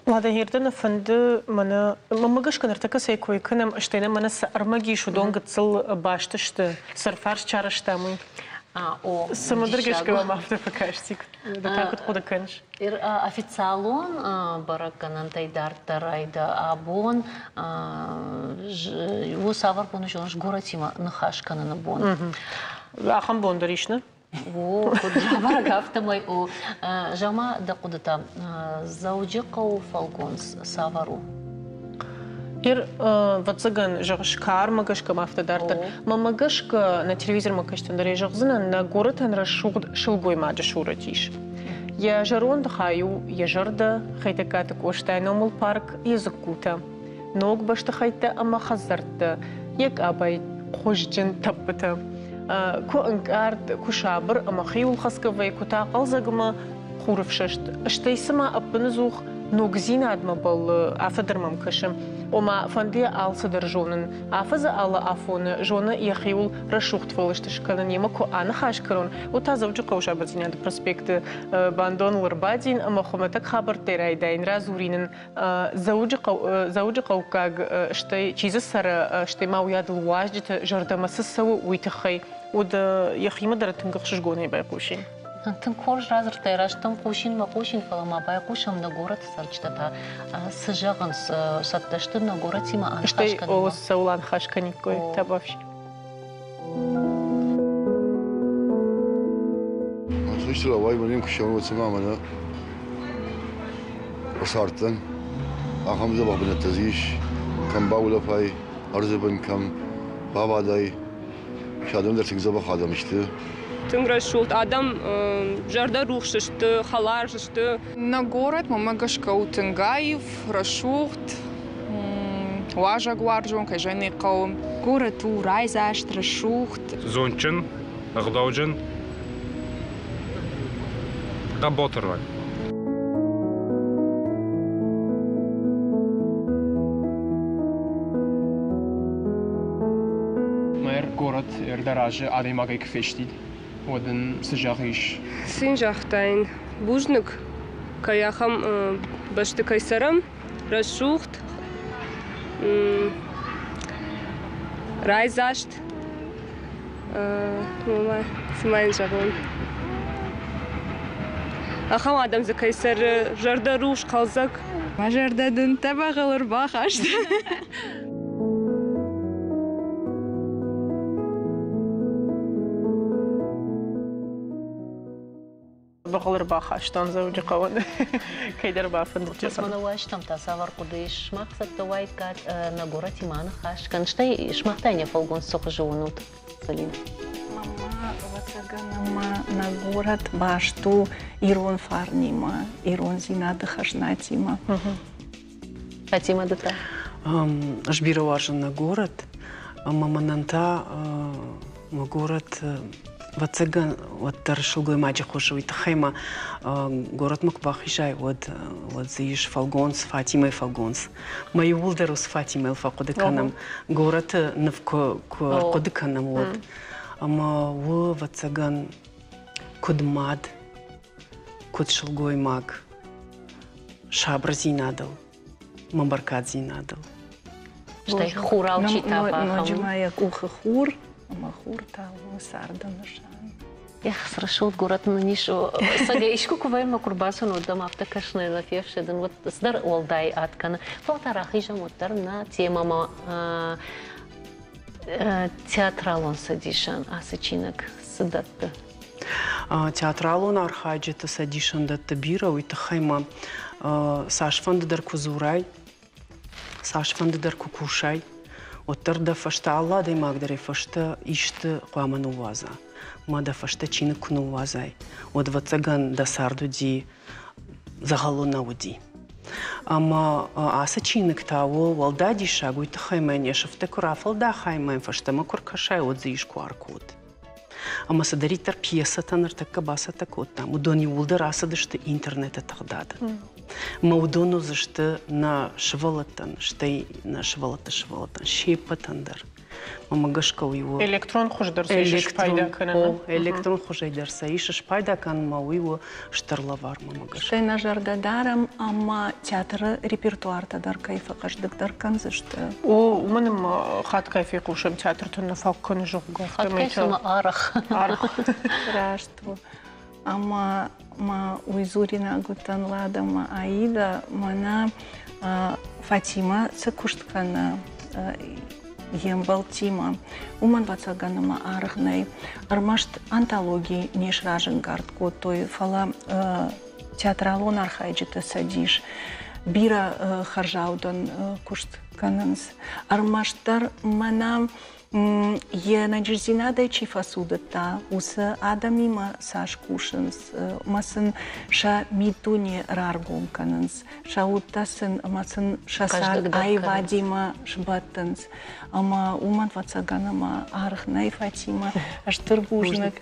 Уӕдӕ Ердены фӕнды мӕнӕ мӕнмӕ гӕсгӕ ныртӕккӕ цӕй кой кӕнӕм, стӕй нӕ мӕнӕ цы ӕрмӕг ис, уыдон гыццыл баст сты, цы ӕрфарст сарӕзтам, уый. О, Цымыдыр гӕсгӕ мӕм афтӕ фӕкасти, ды та куыд хъуыды кӕныс? Официалон бӕрӕггӕнӕнтӕй дарддӕр айда абон у цавӕр бон зоныс горӕтимӕ ныхас кӕныны бон. Ахӕм бон дӕр ис, нӕ? О, куыд рабӕрӕг, афтӕмӕй у. Зӕгъ-ма дӕ хъуыдытӕ, Дзӕуджыхъӕуы фӕлгонц цавӕр у? Ер, ӕвӕццӕгӕн, зӕгъыс, кармӕ гӕсгӕ ма афтӕ дарддӕр. Мӕнмӕ гӕсгӕ, нӕ телевизормӕ кӕстӕн дӕр ӕй зӕгъдзынӕн, нӕ горӕтӕн рӕсугъд сылгоймаджы сурӕт ис. Йӕ зӕронды хай у йӕ зӕрдӕ, Хетӕгкаты Къостайы номыл парк, йӕ дзыккутӕ, ног бӕстыхӕйттӕ ӕмӕ хӕдзӕрттӕ, йӕ къабайы хуызджын тӕппытӕ. Куы ӕнкъард, куы сабыр ӕмӕ хиуылхӕцгӕ вӕййы, куы та хъӕлдзӕг ӕмӕ хурыфсӕст. Стӕй цыма ӕппыныдзух ногдзинадмӕ бӕллы, афтӕ дӕр мӕм кӕсы. Ома, фӕнды йӕ алцыдӕр зонын. Афӕдзы алы афоны зоны йӕхиуыл рӕсугъд фӕлыст скӕнын, йемӕ куы аныхас кӕнон, уӕд та Дзӕуджыхъӕуы Сабырдзинады проспекты бандоныл ӕрбадин ӕмӕ хуымӕтӕг хабӕрттӕй райдаин, радзурин ын Дзӕуджыхъӕуккаг, стӕй чи дзы цӕры, стӕй ма уыйадыл уазджыты зӕрдӕмӕ цы цӕуы, уый тыххӕй. Уӕд йӕхимӕ дӕр тынг ӕхсызгонӕй байхъусин. Тынг хорз радзырдтай, раст дӕм хъусин мӕ хъусин, фӕлӕ ма байхъусӕм нӕ горӕты цӕрджытӕ та цы зӕгъынц, цӕттӕ сты нӕ горӕтимӕ аныхас Стӕй кӕнынмӕ? цӕуыл аныхас кӕниккой, табуафси. Ацы цӕстыл ауайы, мӕнӕн куы ссӕуын, уӕд цыма мӕнӕ ӕрцардтӕн. Ахӕм дзӕбӕх бынӕттӕ дзы ис, кӕм баулӕфай, ӕрдзы бын кӕм бабадай. Сӕ адӕм дӕр тынг дзӕбӕх адӕм сты. Тынг рӕсугъд адӕм зӕрдӕрухс сты, хӕлар сты. Нӕ горӕт мӕнмӕ гӕсгӕ у тынг аив, рӕсугъд, уазӕгуарзон, кӕй зӕгъын ӕй хъӕуы. Горӕт у райдзаст, рӕсугъд. Зондджын, ӕгъдауджын, хъӕбатыр лӕг. Мэр город ӕрдӕразы адӕймагӕй куы фестид, уӕд ын цы зӕгъис? Цы йын загътаин? Бузныг, кӕй ахӕм бӕсты кӕй цӕрӕм, рӕсугъд, райдзаст. Цы ма йын зӕгъон? Ахӕм адӕм дзы кӕй цӕры, зӕрдӕрухс, хъӕлдзӕг. Мӕ зӕрдӕ дын тӕбӕгъыл ӕрбахаста. Бӕгъыл ӕрбахастон Дзӕуджыхъӕуӕн кӕйдӕр бафӕндыд. Мӕнӕ уастӕм та цавӕр хъуыды ис? Сымах цӕттӕ уаиккат нӕ горӕтимӕ аныхас кӕн, стӕй сымах та йын фӕлгонц цы хуызы уынут, Залин? Мама, ӕвӕццӕгӕн, ӕмӕ нӕ горӕт баст у ирон фарнимӕ, ирондзинады хӕзнатимӕ. Фатима, ды та? Ӕз бирӕ уарзын нӕ горӕт, ӕмӕ мӕнӕн та мӕ горӕт ӕвӕццӕгӕн, уӕддӕр сылгоймаджы хуызы уый тыххӕй ма горӕтмӕ куы бахизай, уӕд, уӕд дзы ис фӕлгонц, Фатимӕйы фӕлгонц. Мӕ иууылдӕр уыцы Фатимӕйыл фӕхъуыды кӕнӕм, горӕты ныв куы, куы ӕрхъуыды кӕнӕм, уӕд. Ӕмӕ у, ӕвӕццӕгӕн, куыд мад, куыд сылгоймаг, сабырдзинадыл, мӕ бӕркаддзинадыл. Стӕй хурау чи тафа. Ноджы ма йӕ къухы хур, ӕмӕ хур та у царды нысан. Эх, цы рӕсугъд горӕт нын ис. Цӕгӕй искуы куы вӕййӕм, куы рбацӕуын, уӕд дӕм афтӕ кӕсынӕй нӕ фефсӕдын, уӕд цыдӕр уӕлдай ад кӕны. Фӕлӕ та рахизӕм уӕддӕр нӕ темӕмӕ театралон цӕдисӕн ацы чиныг цы дӕтты? Театралон архайджыты цӕдисӕндӕтты бирӕ, уый тыххӕй ма цасфӕнды дӕр куы дзурай, цасфӕнды дӕр куы кусай, уӕддӕр дӕ фӕстӕ алы адӕймаг дӕр йӕ фӕстӕ исты хъуамӕ ныууадза. Ма дӕ фӕстӕ чиныг куы ныууадзай, уӕд, ӕвӕццӕгӕн, дӕ цард уыди дзӕгъӕлы нӕ уыди. Ӕмӕ ацы чиныг та у уӕлдай диссаг, уый тыххӕй мӕ йӕ сыфтӕ куы рафӕлдахай ӕмӕ йӕм фӕстӕмӕ куы ркӕсай, уӕд дзы ис QR-код. Ӕмӕ цыдӕриддӕр пьесӕтӕ ныртӕккӕ бацӕттӕ кодтам, уыдон иууылдӕр ацыдысты интернеты тыгъдады. Ӕмӕ уыдон уыдзысты нӕ сывӕллӕттӕн, стӕй нӕ сывӕллӕтты сывӕллӕттӕн се ппӕтӕн дӕр. Мӕнмӕ гӕсгӕ уый у. Электрон хуыз дӕр сӕ ис спайда кӕнын. Электрон хуызӕй дӕр сӕ ис спайда кӕнынмӕ, уый у стыр лӕвар мӕнмӕ гӕсгӕ. Стӕй нӕ зӕрдӕ дарӕм, ӕмӕ театры репертуартӕ дӕр кӕй фӕхъӕздыгдӕр кӕндзысты. О, уымӕн ӕмӕ хатгай фехъусӕм театрты нӕ фаг кӕны, зӕгъгӕ. Хатгай цыма арӕх. Арӕх. Раст у. Ӕмӕ ма уый дзуринаг уыдтӕн Лада ӕмӕ Аида, мӕнӕ Фатимӕ цы куыст кӕны йе мбӕлттимӕ, уымӕн ӕвӕццӕгӕн ӕмӕ аргъ нӕй. Ӕрмӕст антологи не сразӕнгард кодтой, фӕлӕ театралон архайджыты цӕдис бирӕ хӕрзаудӕн куыст кӕнынц. Ӕрмӕстдӕр мӕнӕ йе нӕниздзинадӕй чи фӕцудыдта, уыцы адӕмимӕ цас кусынц, ӕмӕ сын сӕ миддуне раргом кӕнынц, сӕ удтӕ сын ӕмӕ сын сӕ цард аивадимӕ сбӕттынц. Ӕмӕ уымӕн ӕвӕццӕгӕн ӕмӕ аргъ нӕй Фатимӕ. Стыр бузныг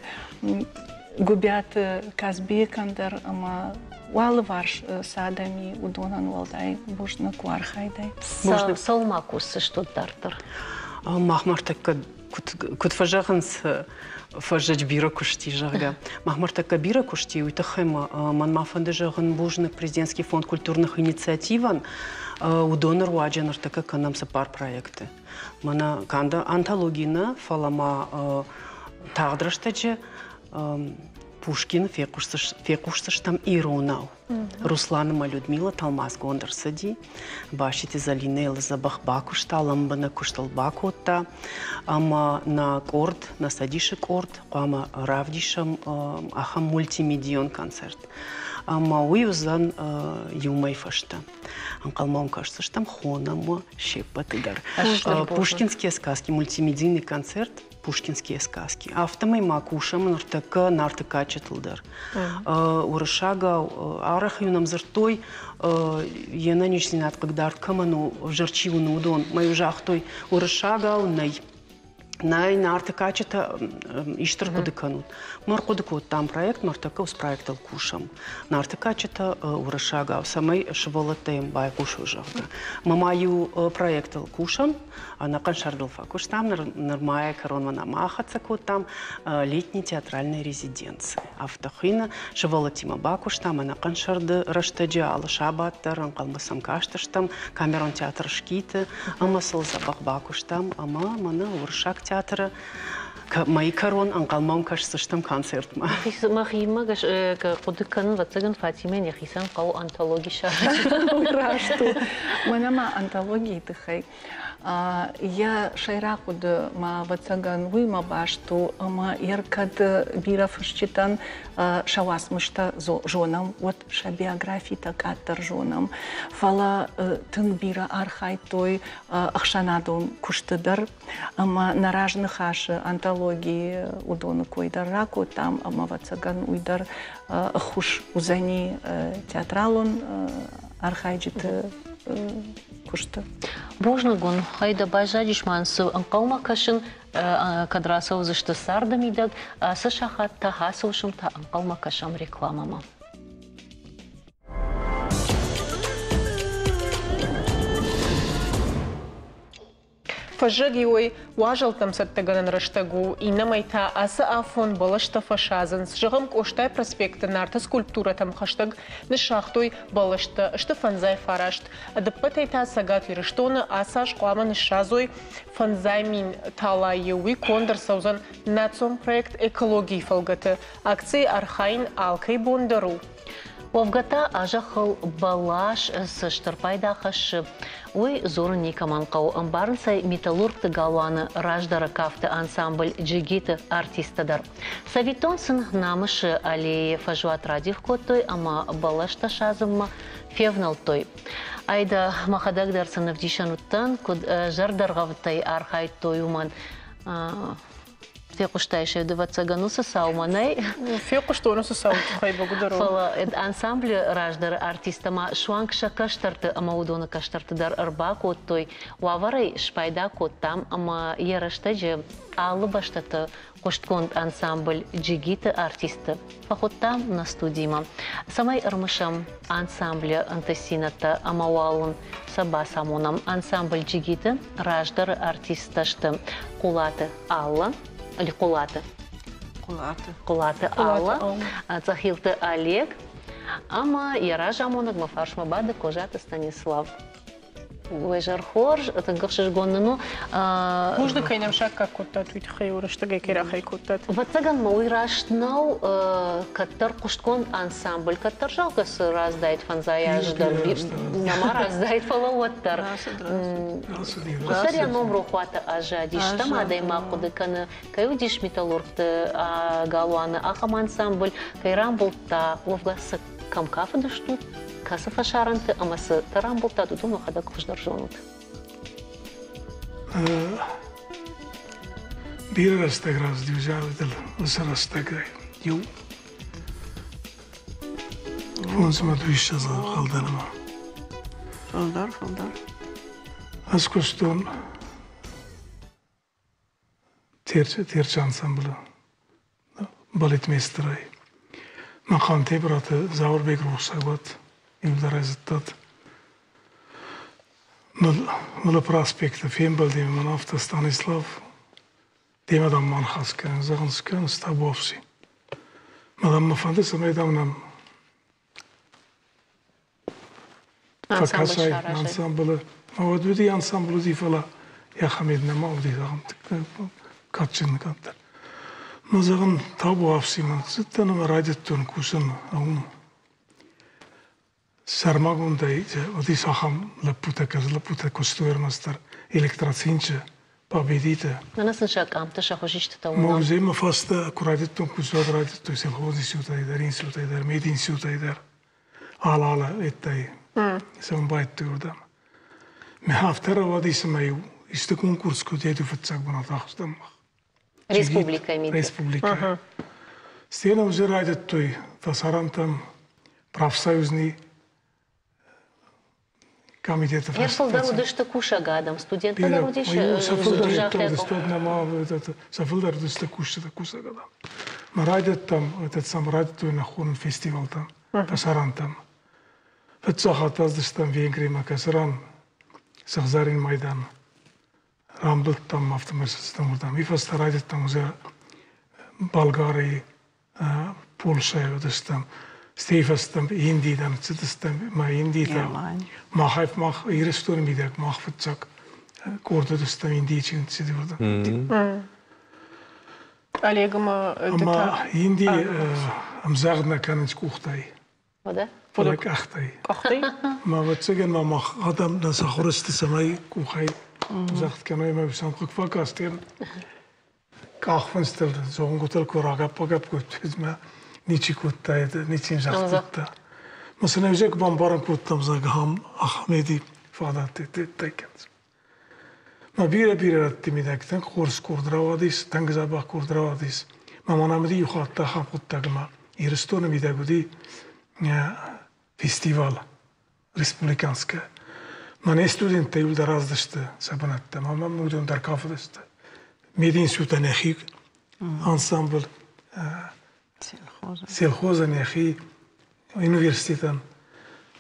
Гуыбиаты Казбекӕн дӕр ӕмӕ уӕлыварс цы адӕм и, уыдонӕн уӕлдай бузныг у архайдӕй. Цӕуыл ма кусдзыстут дарддӕр? Мах ныртӕккӕ куыд фӕзӕгъынц, фӕззӕджы бирӕ куыст и, зӕгъгӕ. Мах ныртӕккӕ бирӕ куыст и, уый тыххӕй мӕнмӕ фӕнды зӕгъын бузныг Президентский фонд культурных инициативӕн. Уыдоны руаджы ныртӕккӕ кӕнӕм цыппар проекты. Мӕнӕ канд антологи нӕ, фӕлӕ ма тагъд рӕстӕджы Пушкины фехъусдзыстӕм иронау. Руслан ӕмӕ Людмила тӕлмацгонд ӕрцыди. Баситы Зӕлинӕ йыл дзӕбӕх бакуыста, лӕмбынӕг куыст ыл бакодта. Ӕмӕ нӕ къорд, нӕ цӕдисы къорд хъуамӕ равдисӕм ахӕм мультимедийон концерт. Ӕмӕ уый уыдзӕн иу мӕй фӕстӕ. Ӕнхъӕлмӕ уӕм кӕсдзыстӕм, хонӕм уӕ се ппӕты дӕр. Пушкинские сказки, мультимедийный концерт Пушкинские сказки. Афтӕмӕй ма кусӕм ныртӕккӕ Нарты кадджытыл дӕр. Уырыссагау арӕх-иу нӕм дзырдтой, йе нӕниздзинад хъыгдард кӕмӕн у, ӕвзӕр чи уыны, уыдон. Мӕ-иу загътой, уырыссагау нӕй. Нӕй, Нарты кадджытӕ исты рхъуыды кӕнут. Мы ӕрхъуыды кодтам проект, ныртӕккӕ уыцы проектыл кусӕм. Нарты кадджытӕ уырыссагау, цӕмӕй сывӕллӕттӕ йӕм байхъусой, зӕгъгӕ. Мӕ ма иу проектыл кусӕм, ӕнӕхъӕн сӕрдыл фӕкуыстам, нырма йӕ кӕронмӕ нӕма ахӕццӕ кодтам летний театральной резиденции. Афтӕ хуыйны, сывӕллӕттимӕ бакуыстам ӕнӕхъӕн сӕрды рӕстӕджы алы сабат дӕр ӕнхъӕлмӕ сӕм кастыстӕм камерон театр Шкиты ӕмӕ сыл дзӕбӕх бакуыстам ӕмӕ мӕнӕ уырыссаг театры мӕйы кӕрон ӕнхъӕлмӕ кӕсдзыстӕм концертмӕ. Мӕхимӕ гӕсгӕ хъуыды кӕнын, ӕвӕццӕгӕн, Фатимӕйӕн йӕхицӕн хъӕуы антологи саразын. Раст у. Мӕнӕ ма антологийы тыххӕй. Йӕ сӕйраг хъуыды ма, ӕвӕццӕгӕн, уыимӕ баст у, ӕмӕ йӕ кӕд бирӕ фысджытӕн сӕ уацмыстӕ зонӕм, уӕд сӕ биографитӕ къаддӕр зонӕм. Фӕлӕ тынг бирӕ архайдтой ӕхсӕнадон куысты дӕр ӕмӕ нӕ разныхасы антологийы уыдоны кой дӕр ракодтам, ӕмӕ, ӕвӕццӕгӕн, уый дӕр ӕххуыс уыдзӕни театралон архайджыты куысты. Бузныг уын, хайда баззадис ма цы ӕнхъӕлмӕ кӕсын, кӕд рацӕудзысты царды мидӕг, ацы сахат та, ацы уысм та ӕнхъӕлмӕ кӕсӕм рекламӕмӕ. Фӕззӕг иуӕй уазӕлттӕм цӕттӕгӕнӕн рӕстӕг у, иннӕмӕй та ацы афон бӕлӕстӕ фӕсадзынц. Зӕгъӕм, Къостайы проспекты Нарты скульптурӕтӕм хӕстӕг ныссагътой бӕлӕстӕ, сты фӕндзай фараст. Ӕдыппӕтӕй та Цӕгат Ирыстоны ацы аз хъуамӕ ныссадзой 5000 талайы. Уый конд ӕрцӕудзӕн национ проект «Экологийы» фӕлгӕты. Акцийы архайын алкӕй бон дӕр у. Уӕвгӕ та а зӕххыл бӕлас цы стыр пайда хӕссы, уый дзурын никӕмӕн хъӕуы. Ӕмбарынц ӕй металлургты галуаны раздӕры кафты ансамбль «Джигиты» артисттӕ дӕр. Цӕвиттон сын Намысы аллейы фӕзуат радих кодтой ӕмӕ бӕлӕстӕ садзынмӕ февнӕлдтой. Айда, мӕхӕдӕг дӕр сын ӕвдисӕн уыдтӕн, куыд зӕрдӕргъӕвдтӕй архайдтой, уымӕн. Фехъуыстай сӕ, ӕвӕццӕгӕн, уыцы цаумӕ, нӕй? Фехъуыстон уыцы цауы тыххӕй, бӕгуыдӕр. Фӕлӕ ансамблы раздӕры артисттӕ ма суанг сӕ кӕстӕрты ӕмӕ уыдоны кӕстӕрты дӕр ӕрбакодтой. Уавӕрӕй спайда кодтам ӕмӕ йӕ рӕстӕджы алы бӕстӕты хъуыстгонд ансамбль «Джигиты» артистты фӕхуыдтам нӕ студимӕ, цӕмӕй ӕрмысӕм ансамблы ӕнтыстдзинӕдтӕ ӕмӕ уал ын сӕ бацамонӕм. Ансамбль «Джигиты» раздӕры артисттӕ сты Хъулаты Алла, или Хъулаты? Хъулаты. Хъулаты Алла, Цъӕхилты Олег ӕмӕ йӕ разамонӕг мӕ фарсмӕ бады Козаты Станислав. Уӕ зӕр хорз, тынг ӕхсызгон нын у. Бузныг, кӕй нӕм саккаг кодтат, уый тыххӕй рӕстӕгӕй кӕй рахай кодтат. Ӕвӕццӕгӕн ма уый раст нӕу, кӕддӕр хъуыстгонд ансамбль, кӕддӕр зӕгъгӕ цы раздаид фӕндзай азы дӕр нӕма раздаид, фӕлӕ уӕддӕр. Куыддӕр йӕ ном рохуаты аззадис, стӕм адӕймаг хъуыды кӕны, кӕй уыдис металлургты галуаны ахӕм ансамбль, кӕй рамбылдта, уӕвгӕ цы кӕм кафыдыстут, кӕцы фӕсарӕнты ӕмӕ цы рамбылдтат, уыдон уӕхӕдӕг хуыздӕр зонут. Бирӕ рӕстӕг рацыди узӕлдыл уыцы рӕстӕгӕй. Иу фондзмӕ дыууиссӕдз ӕнхъӕлдӕнмӕ. Фылдӕр, фылдӕр. Ӕз куыстон Терчы ансамблы балетмейстерӕй. Махъанте браты Зауырбег рухсаг уӕд, иудар ӕй зыдтат. Нулы проспекты фембӕлди мӕн афтӕ Станислав, демӕ дам ма ныхас кӕнын, зӕгъын скӕн, табуафси. Мадам мӕ фӕнды, цӕмӕй дам нӕм фӕкӕсай ансамблы. Уӕд уыди ансамбль уыди, фӕлӕ йӕхӕмед нӕма уыди, зӕгъӕм, кадджын кӕддӕр. Мӕ зӕгъын, табуафси мын цыдтӕн ӕмӕ райдыдтон кусын уым. Сӕрмагондӕй уыдис ахӕм лӕппутӕ, кӕцы лӕппутӕ куыстой ӕрмӕстдӕр электроцинчы, Победиты. Мӕнӕ сын сӕ къамтӕ, сӕ хуызистытӕ уынӕм. Музеймӕ фӕстӕ куы райдыдтон кусын, уӕд райдыдтой сельхозинститутӕй дӕр, институтӕй дӕр, мединститутӕй дӕр. Алы-алы ӕддӕй цӕуын байдыдтой уырдӕм. Мӕ афтӕ рауадис, ӕмӕ-иу исты конкурс куы уыд, фыццаг бынат ахстам мах. Республикӕйы мидӕг. Республикӕйы. Сценӕ уже райдыдтой фӕсарӕнтӕм профсоюзный комитеты. Йӕ фылдӕр уыдысты кусӕг адӕм, студенттӕ дӕр уыдис. Сӕ фылдӕр сӕ фылдӕр уыдысты кусджытӕ, кусӕг адӕм. Мӕ райдыдтам, этот сам райдыдтой нӕ хонын фестивалтӕм, фӕсарӕнтӕм. Фыццаг хатт аздыстӕм Венгримӕ, кӕцыран Сыгъзӕрин майдан рамбылдтам, афтӕмӕй цыдыстӕм уырдӕм. Уый фӕстӕ райдыдтам уже Болгарийы, Польшӕйы уыдыстӕм, стӕй фӕстӕ Индийы дӕр цыдыстӕм, ӕмӕ Индийы та махӕй мах Ирыстоны мидӕг мах фыццаг къорд уыдыстӕм Индийы чи цыди уырдӕм. Олег ӕмӕ Ӕмӕ Индийы ӕмдзӕгъд нӕ кӕнынц къухтӕй. Уӕдӕ? Фӕлӕ къӕхтӕй. Къӕхтӕй? Мӕ ӕвӕццӕгӕн ма мах адӕм нӕ сахуыр сты, цӕмӕй къухӕй загъд кӕной ӕмӕ сӕм хъыг фӕкастӕн. Къахфындзтыл, зонгуытыл куы рагӕпп-багӕпп кодтой, мӕ ничи кодтаид, ничи йын загъд кодта. Мӕ сын ӕвзаг бамбарын кодтам, зӕгъ, ахӕм ахӕм фадат кӕнынц. Мӕ бирӕ-бирӕ рӕтты мидӕг тынг хорз къорд рауадис, тынг дзӕбӕх къорд рауадис. Мӕ мӕнӕн уыди иу хатт ахӕм хъуыддаг, ӕмӕ Ирыстоны мидӕг уыди фестивал республиканская. Мӕнӕ студенттӕ иуылдӕр аздысты сӕ бынӕттӕм, ӕмӕ уыдон дӕр кафыдысты. Мединститутӕн йӕхи ансамбль, сельхозӕн йӕхи университетӕн.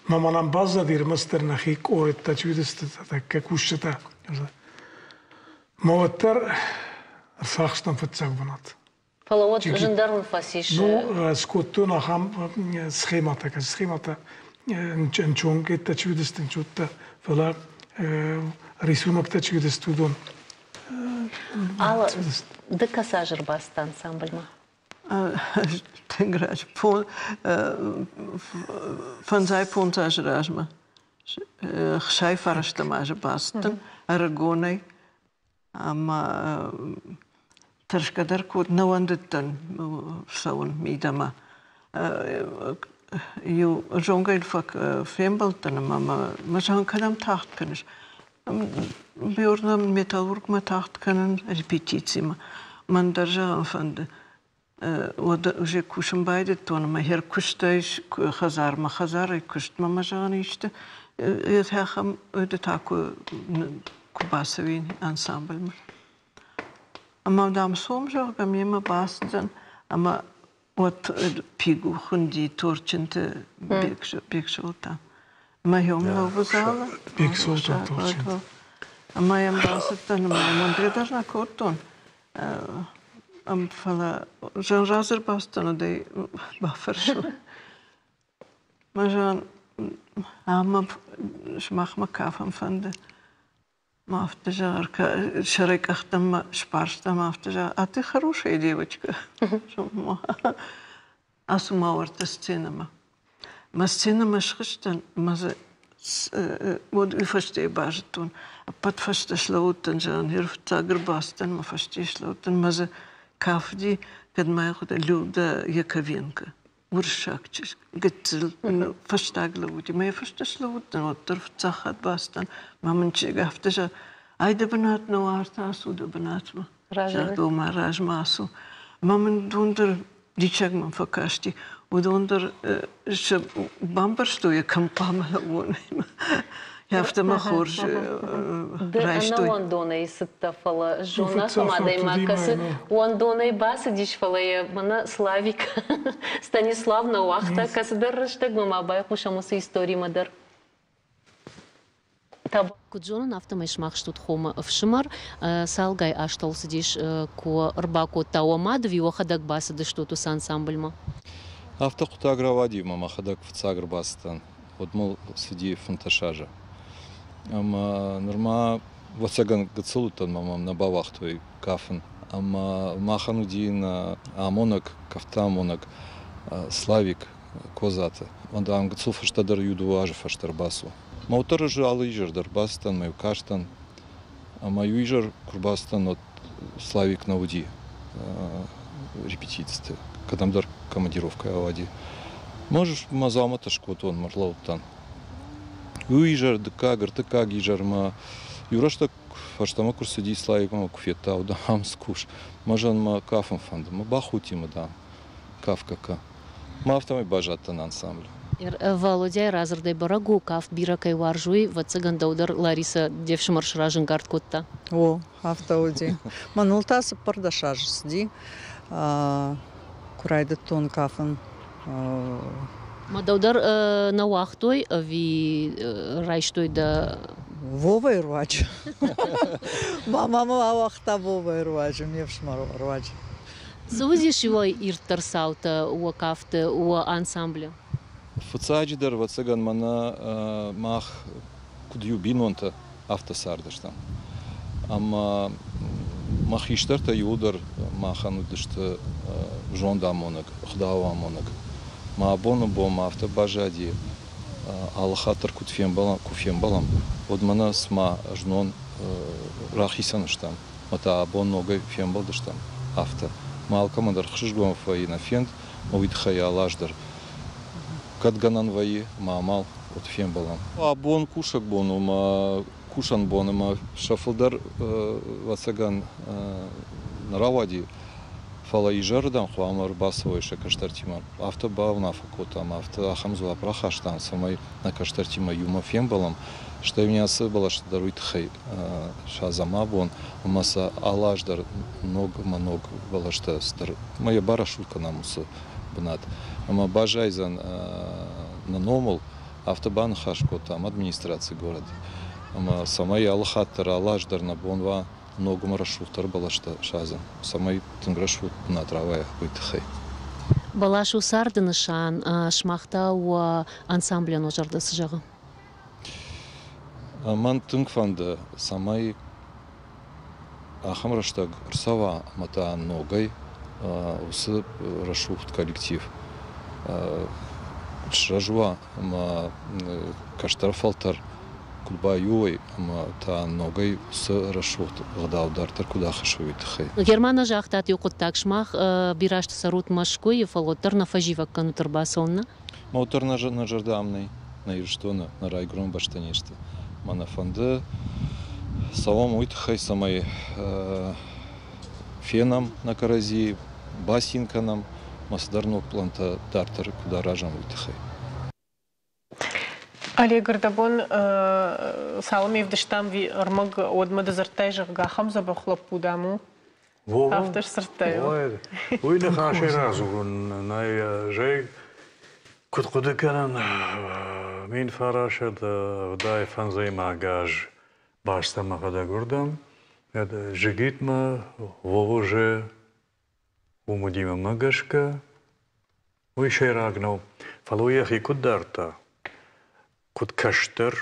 Ма мӕнӕн баззади ӕрмӕстдӕр нӕхи къорӕттӕ чи уыдысты, тӕккӕ кусджытӕ. Ма уӕддӕр ӕрцахстам фыццаг бынат. Фӕлӕ уӕд зындӕр уын фӕцис? Ну, скодтон ахӕм схематӕ, схематӕ ӕнчонгӕттӕ чи уыдысты, ӕнчоттӕ, фӕлӕ рисуноктӕ чи уыдысты, уыдон. Алла, ды кӕцы аз ӕрбацыдтӕ ансамбльмӕ? Тынг раджы, фӕндзай фондз азы размӕ, 69 азы бацыдтӕн ӕрыгонӕй ӕмӕ тӕрсгӕ дӕр код нӕ уӕндыдтӕн цӕуын мидӕмӕ. Иу зонгӕйыл фембӕлдтӕн ӕмӕ мӕ зӕгъын, кӕдӕм тагъд кӕныс? Бьорнӕм металлургмӕ тагъд кӕнын репетицимӕ. Мӕн дӕр зӕгъын фӕнды. Уӕд уже кусын байдыдтон ӕмӕ хер куыстӕй хӕдзармӕ, хӕдзарӕй куыстмӕ мӕ зӕгъын исты ахӕм ды та куы куы бацӕуин ансамбльмӕ. Ӕмӕ дам сом, зӕгъгӕ, мемӕ бацыдзӕн ӕмӕ уӕд Пигу хуынди Торчынты Бексолтан. Мӕ йом лӕууы залы. Бексолтан Торчынты. Ӕмӕ йӕм бацыдтӕн ӕмӕ йӕм уӕндгӕ дӕр нӕ кодтон. Фӕлӕ зын разӕрбацыдтӕн, уӕд ӕй бафӕрсон. Мӕ зӕгъын, ӕмӕ сымахмӕ кафын фӕнды. Ма афтӕ зӕгъ, сӕрӕй къӕхтӕм мӕ сбарста, ма афтӕ зӕгъ, а ты хорошая девочка. Ацу ма уӕртӕ сценӕмӕ. Мӕ сценӕмӕ схызтӕн, мӕ дзы уӕд уый фӕстӕ базыдтон. Ӕппӕт фӕстӕ слӕууыдтӕн, зӕгъын, ныр фыццаг ӕрбацыдтӕн, мӕ фӕсте слӕууыдтӕн, мӕ дзы кафыди, кӕд ма йӕ хъуыды Люда Яковенко. Уырыссаг чызг, гыццыл, фӕстаг лӕууыди. Мӕ фӕстӕ слӕууыдтӕн, уӕддӕр фыццаг хатт бацыдтӕн. Мӕ мын чызг афтӕ зӕгъы, ай дӕ бынат нӕу, арт ацу дӕ бынатмӕ. Загъта, мӕ размӕ ацу. Мӕ мын уыдон дӕр диссаг мӕм фӕкасти. Уыдон дӕр сӕ бамбӕрстой, кӕм хъуамӕ лӕууон. Афтӕ мӕ хорз райстой. Ды ӕнӕуӕндонӕй цыдтӕ, фӕлӕ зон ахӕм адӕймаг, кӕцы уӕндонӕй бацыдис, фӕлӕ йӕ мӕнӕ Славик Станислав нӕ уагъта, кӕцыдӕр рӕстӕгмӕ ма байхъусӕм уыцы историмӕ дӕр. Куыд зонын, афтӕмӕй сымах стут хомы ӕфсымӕр. Цалгай азтыл цыдис, куы ӕрбакодта уӕ мад ӕви уӕхӕдӕг бацыдыстут уыцы ансамбльмӕ? Афтӕ хъуыддаг рауади, ӕмӕ мӕхӕдӕг фыццаг ӕрбацыдтӕн. Уӕд мыл цыди 15 азы. Ӕмӕ нырма, ӕвӕццӕгӕн, гыццыл уыдтӕн ӕмӕ мӕм нӕ бауагътой кафын. Ӕмӕ махӕн уыди нӕ амонӕг, кафтамонӕг Славик Козаты. Мӕ дам гыццыл фӕстӕдӕр иу-дыууӕ азы фӕстӕ ӕрбацу. Мӕ уӕддӕр ӕз алы изӕр дӕр бацыдтӕн мӕ иу кастӕн. Ӕмӕ иу изӕр куы рбацыдтӕн, уӕд Славик нӕ уыди репетициты, кӕдӕмдӕр командировкӕйы ауади. Мӕ мӕ дзаумӕттӕ скодтон, мӕ ӕрлӕууыдтӕн. Иу изӕр, дыккаг, ӕртыккаг изӕрмӕ иу рӕстӕг фӕстӕмӕ куы рцыди Славикмӕ куы федта, уӕд ам скус. Мӕ зӕнмӕ кафын фӕнды. Мӕ бахудти мӕ, дам, кафгӕ кӕ. Мӕ афтӕмӕй баззадтӕн ансамблы. Валодяйы радзырдӕй бӕрӕг у, кафт бирӕ кӕй уарзуй, ӕвӕццӕгӕн дӕу дӕр Ларисӕ де фсымӕр сразӕнгард кодта. О, афтӕ уыди. Мӕныл та 14 азы цыди, куы райдыдтон кафын. Ма дӕу дӕр нӕ уагътой ӕви райстой дӕ? Вовайы руаджы. Мама мӕ ауагъта Вовайы руаджы, ме фсымӕры руаджы. Цы уыдис уӕ ирддӕр цаутӕ уӕ кафты, уӕ ансамблы? Фыццаджыдӕр, ӕвӕццӕгӕн, мӕнӕ мах куыд иу бинонтӕ, афтӕ цардыстӕм. Ӕмӕ мӕ хистӕртӕ иууылдӕр махӕн уыдысты зондамонӕг, ӕгъдауамонӕг. Мӕ абоны бон ма афтӕ баззади, алы хатт дӕр куыд фембӕлӕм, куы фембӕлӕм, уӕд мӕнӕ цыма знон рахицӕн стӕм. Ӕмӕ та абон ногӕй фембӕлдыстӕм, афтӕ. Мӕ алкӕмӕн дӕр ӕхсызгон фӕййы нӕ фенд, ӕмӕ уый тыххӕй алы аз дӕр кӕд гӕнӕн вӕййы, мӕ амал, уӕд фембӕлӕм. Абон кусӕг бон у, мӕ кусӕн бон ӕмӕ сӕ фылдӕр, ӕвӕццӕгӕн, нӕ рауади, фӕлӕ изӕрырдӕм хъуамӕ ӕрбацӕуой сӕ кӕстӕртимӕ. Афтӕ бауынаффӕ кодтам, афтӕ ахӕм дзуапп рахастам, цӕмӕй нӕ кӕстӕртимӕ иумӕ фембӕлӕм, стӕй мын ацы бӕлӕсты дӕр уый тыххӕй садзӕм абон, ӕмӕ сӕ алы аз дӕр ног ӕмӕ ног бӕлӕстӕ цыдӕр ӕмӕ йӕ барӕсугъд кӕнӕм уыцы бынат. Ӕмӕ баззайдзӕн нӕ номыл, афтӕ баныхас кодтам администрацийы горӕты. Ӕмӕ цӕмӕй алы хатт дӕр, алы аз дӕр нӕ бон уа ног ӕмӕ рӕсугъддӕр бӕлӕстӕ садзын, цӕмӕй тынг рӕсугъд бынат рауайа, уый тыххӕй. Бӕлас у царды нысан, сымах та уӕ ансамблӕн уӕ зӕрдӕ цы зӕгъы? Мӕн тынг фӕнды, цӕмӕй ахӕм рӕстӕг ӕрцӕуа ӕмӕ та ногӕй уыцы рӕсугъд коллектив куыд сырӕзт уа ӕмӕ кӕстӕр фӕлтӕр куыд баиу уой ӕмӕ та ногӕй уыцы рӕсугъд ӕгъдау дарддӕр куыд ахӕссой, уый тыххӕй. Герман, загътат иу хъуыддаг, сымах бирӕ азты цӕрут Мӕскуыйы, фӕлӕ уӕддӕр нӕ фӕзивӕг кӕнут ӕрбацӕуынмӕ? Уӕддӕр нӕ зӕрдӕ ам нӕй, нӕ Ирыстоны, нӕ райгуырӕн бӕстӕ не сты. Мӕ нӕ фӕнды цӕуӕм уый тыххӕй, цӕмӕй фенӕм нӕ кӕрӕдзийы, бацин кӕнӕм, ӕмӕ цыдӕр ног пълантӕ дарддӕр куыд аразӕм, уый тыххӕй. Олег, ӕрдӕбон цалынмӕ ӕвдыстам ӕрмӕг, уӕдмӕ ды дзырдтай, зӕгъгӕ, ахӕм дзӕбӕх лӕппу, дам, у. Афтӕ сдзырдтай. Уый ныхасӕй радзурын нӕй. Зӕй куыд хъуыды кӕнын, 1975 фӕндзӕймаг аз бӕстӕ мӕхӕдӕг уырдӕм, Джигитмӕ, Вовоже, уым уыди мӕнмӕ гӕсгӕ. Уый сӕйраг нӕу, фӕлӕ уый йӕхи куыд дардта, куыд кӕстӕр,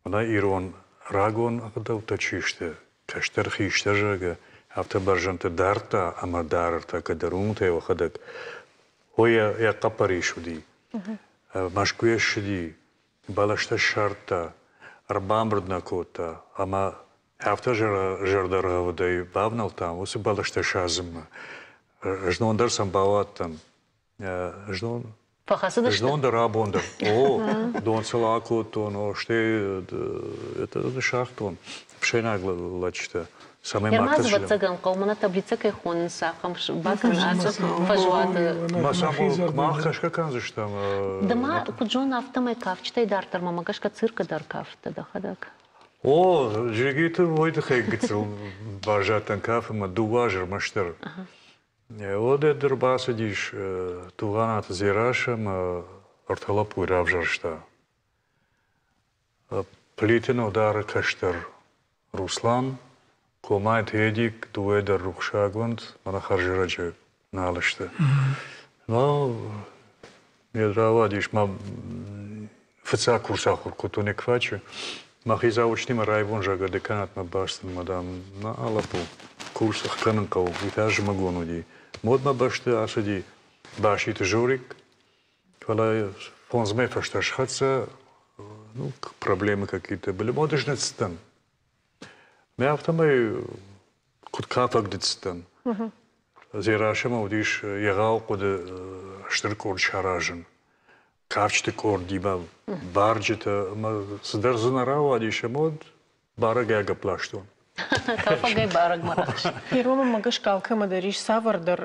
Мӕнӕ ирон рагон ӕгъдӕуттӕ чи сты, кӕстӕр хистӕр, зӕгъгӕ, афтӕ бӕрзӕндты дардта ӕмӕ дары ӕртӕккӕ дӕр уымтӕ йӕхӕдӕг. Ой, йӕ хъӕппӕрис уыди. Мӕскуыйӕ ссыди, бӕлӕстӕ ссардта, ӕрбамбырд нӕ кодта ӕмӕ афтӕ зӕрдӕргъӕвдӕй бавнӕлдтам уыцы бӕлӕстӕ садзынмӕ. Знон дӕр сӕм бауадтӕн. Знон Фӕхӕцыдысты? Знон дӕр, абон дӕр. О, дон сыл акодтон, о, стӕй это сагътон ӕфсӕйнаг лӕджытӕ, цӕмӕй ма Ермаз, ӕвӕццӕгӕн, хъӕумӕ нӕ таблицӕ кӕй хонынц, ахӕм бакӕн ацы фӕзуаты. Мах кӕсгӕ кӕндзыстӕм. Ды ма, куыд зонын, афтӕмӕй кафджытӕй дарддӕр мӕмӕ гӕсгӕ циркы дӕр кафтӕ дӕхӕдӕг. О, Джигиты уый тыххӕй гыццыл баззадтӕн кафынмӕ дыууӕ азы ӕрмӕстдӕр. Уӕд ӕрбацыдис Тугъанаты Дзерассӕ ӕмӕ ӕртӕ лӕппуйы равзӕрста. Плиты Нодары кӕстӕр Руслан, Комайты Эдик, дыууӕ дӕр рухсагонд, мӕнӕ хӕрзӕрӕджы нал сты. Ну, ме рауадис мӕ фыццаг курс ахуыр кодтон Еквачы. Мӕхи заочнимӕ райвон зӕгъгӕ деканатмӕ бацыдтӕн, мадам, на лӕппу. Курс ӕхгӕнын хъӕуы, уый та зымӕгон уыди. Модмӕ бӕсты ацыди Баситы Жорик, фӕлӕ фондз мӕй фӕстӕ схӕццӕ, ну, проблемы какие-то были. Мод ӕз ныццыдтӕн. Мӕ афтӕмӕй куыд кафӕг ныццыдтӕн. Дзерассӕмӕ уыдис егъау хъуыды стыр къорд саразын. Кафджыты къордимӕ, барджытӕ ӕмӕ цыдӕр дзы нӕ рауадис, ӕмӕ уӕд барӕгӕй агӕпп ластон. Кафӕгӕй барӕгмӕ рахызт. Иронмӕ гӕсгӕ алкӕмӕ дӕр ис цавӕрдӕр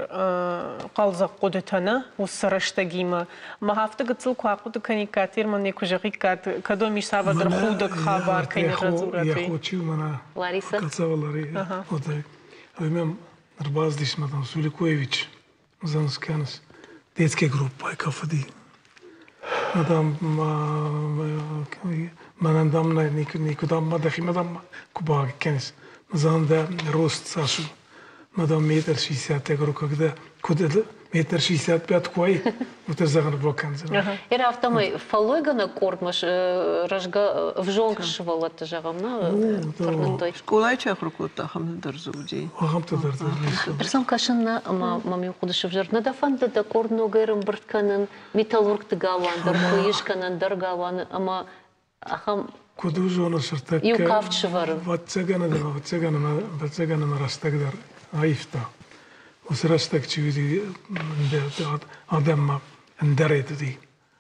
хъӕлдзӕг хъуыдытӕ, нӕ, уыцы рӕстӕгимӕ. Мах афтӕ гыццыл куы ахъуыды кӕниккат, Ирман куы зӕгъиккат, кӕд уӕм ис цавӕрдӕр худӕг хабар, кӕй нӕ радзурат. Лариса. Ӕрбацыдис мадам Суликоевич, Занскянс, детская группа кафеди. Мадам, мӕнӕн дам никуыдӕм ма дӕхимӕ дам куы бакӕнис. Мазан дӕ рост цас у? Мадам метр шестьдесят, я говорю, когда куыд метр шестьдесят пять куы уай, уыты зӕгъын бакӕндзынӕ. Ир афтӕмӕй фӕллойгӕнӕг къордмӕ рӕзгӕ ӕвзонг сывӕллӕтты зӕгъӕм, нӕ тырныдтой. Скъолайы чи ахуыр кодта, ахӕмты дӕр дзы уыди. Ахӕмтӕ дӕр дзы уыди. Сӕм кӕсын нӕ ӕмӕ мӕм иу хъуыды сывзӕрд. Нӕ дӕ фӕнды дӕ къорд ногӕй ӕрӕмбырд кӕнын, металлургты галуан дӕр куы ис, кӕнӕ ӕндӕр галуаны ӕмӕ ахӕм Куыд у зоны сыртӕккӕ иу кафт сывӕрын. Ӕвӕццӕгӕн ӕвӕццӕгӕн ӕмӕ ӕвӕццӕгӕн ӕмӕ рӕстӕг дӕр аивта. Уыцы рӕстӕг чи уыди адӕммӕ ӕндӕрӕй уыди.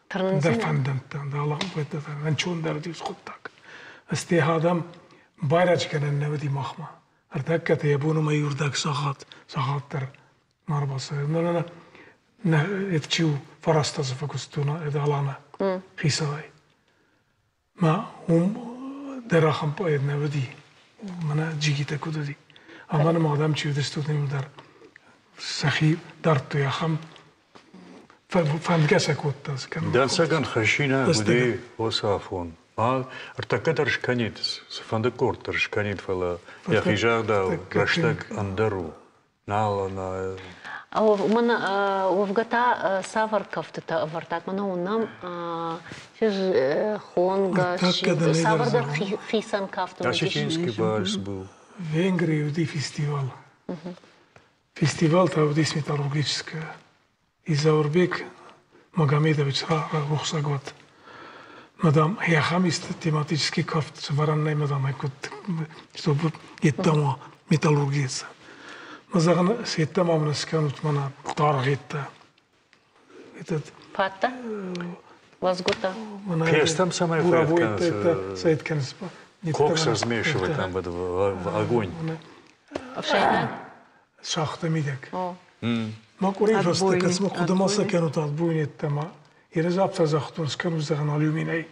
Ӕндӕр фӕндӕнттӕ, ӕнцондӕр уыди уыцы хъуыддаг. Стӕй адӕм байрӕджы кӕнӕн нӕ уыди махмӕ. Ӕртӕккӕ йӕ бон уымӕй иуырдӕг сахат, сахат дӕр ма ӕрбацӕуы. Нӕ, нӕ, это чи у, фараста дзы фӕкуыстон, это Алана хицауӕй. Мӕ уым дӕр ахӕм поэт нӕ уыди, мӕнӕ джигитӕ куыд уыди. Ӕмӕ нӕм адӕм чи уыдысты, уыдон дӕр сӕхи дардтой ахӕм фӕндгӕ сӕ кодта. Дӕнцӕгӕн хӕссинаг уыди уыцы афон. Ма ӕртӕккӕ дӕр скӕнид, цыфӕнды къорд дӕр скӕнид, фӕлӕ йӕхи загъдау рӕстӕг ӕндӕр у. Нал, нӕ. Мӕн уӕвгӕ та цавӕр кӕфтытӕ ӕвӕрдтат? Мӕнӕ уынӕм хонгӕ, цавӕрдӕр хицӕн кафт уыдис. Осетинский вальс был. В Венгрии уыди фестивал. Фестивал та уыдис металлургическая. И Заурбек Магомедович рухсаг уӕд. Мадам, ахӕм исты тематический кафт сӕвӕрӕн нӕй, мадам, куыд, чтобы йеддӕмӕ металлургия. Ма зӕгъын, сеттӕ ма мын скӕнут мӕнӕ даргъеттӕ. Этот Фаттӕ? Лазгута? Пестом самое Сайт кӕныс. Кокс размешивать там в огонь. Ӕфсӕйнаг? Шахта мидӕг. Ма къуырийы фӕстӕ кӕцмӕ хъуыдымӕ сӕ кӕнут отбойнеттӕмӕ. Ерыз афтӕ загътон, скӕнут зӕгъын алюминӕй.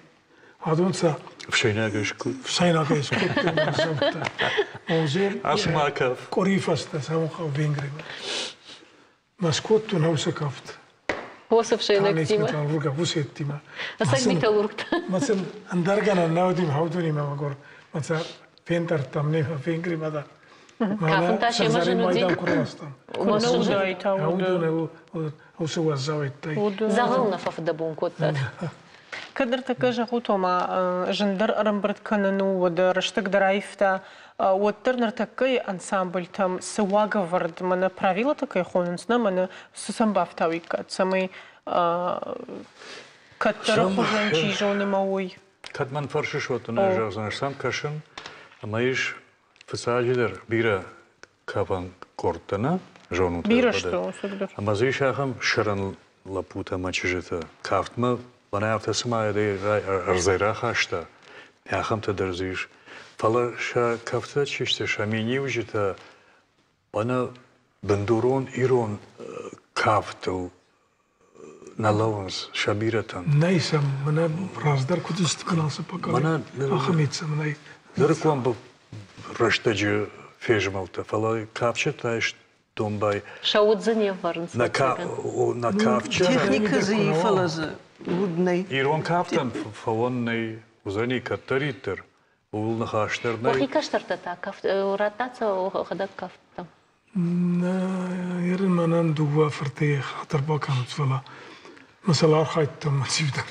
Адон сӕ Ӕфсӕйнагӕй скод. Ӕфсӕйнагӕй скодтой мӕрзӕмттӕ. Озер Асмаков. Къуырийы фӕстӕ цӕуын хъӕуы Венгримӕ. Ма скодтон ӕусы кафт. Уыцы ӕфсӕйнӕгтимӕ. Металлурга, уыцеттимӕ. Ӕцӕг металлургтӕ. Ма сын ӕндӕргӕнӕн нӕ уыди хаудонимӕ мӕгуыр. Ма сӕ фендӕрдтам не Венгримӕ дӕр. Кафын та семӕ зын уыди. Уыцы уӕззауӕйттӕй. Дзӕгъӕл нӕ фӕфыдӕбон кодтат. Кӕд ныртӕккӕ зӕгъут, ома зындӕр ӕрӕмбырд кӕнын у, уӕдӕ рӕстӕг дӕр аивта, уӕддӕр ныртӕккӕйы ансамбльтӕм цы уагӕвӕрд, мӕнӕ правилӕтӕ кӕй хонынц, нӕ мӕнӕ цы сӕм бафтауиккат, цӕмӕй кӕддӕры хуызӕн чи зоны мӕ уой? Кӕд мӕн фӕрсыс, уӕд дын ӕз зӕгъдзынӕн, сӕм кӕсын ӕмӕ ис фыццаджыдӕр бирӕ кафӕн къордтӕ нӕ зонут? Бирӕ сты, ӕцӕгдӕр. Ӕмӕ дзы ис ахӕм сӕрӕн лӕппутӕ ӕмӕ чызджытӕ. Кафтмӕ мӕнӕ афтӕ цыма ӕрдзӕй рахаста, ахӕмтӕ дӕр дзы ис. Фӕлӕ сӕ кӕфтытӕ чи сты, сӕ миниуджытӕ мӕнӕ бындурон ирон кафтыл нӕ лӕууынц сӕ бирӕтӕн. Нӕй сӕм, мӕнӕ раздӕр куыд сты ацы поколени, ахӕм сӕм нӕй. Нырыккон рӕстӕджы фезмӕлдтӕ, фӕлӕ кафджытӕ домбай. Сӕ уд дзы не вӕрынц. На кафджы. Техникӕ дзы и, фӕлӕ дзы уд нӕй. Ирон кафтӕн фӕуӕн нӕй, уыдзӕни кӕддӕриддӕр. Ууыл ныхас дӕр нӕй. Уӕхи кӕстӕртӕ та радтат сӕ хӕдӕг кафттӕм? Нӕ, мӕнӕн дыууӕ фырты хатыр бакӕнут, фӕлӕ мӕ сыл архайдтон мӕ цивдӕр.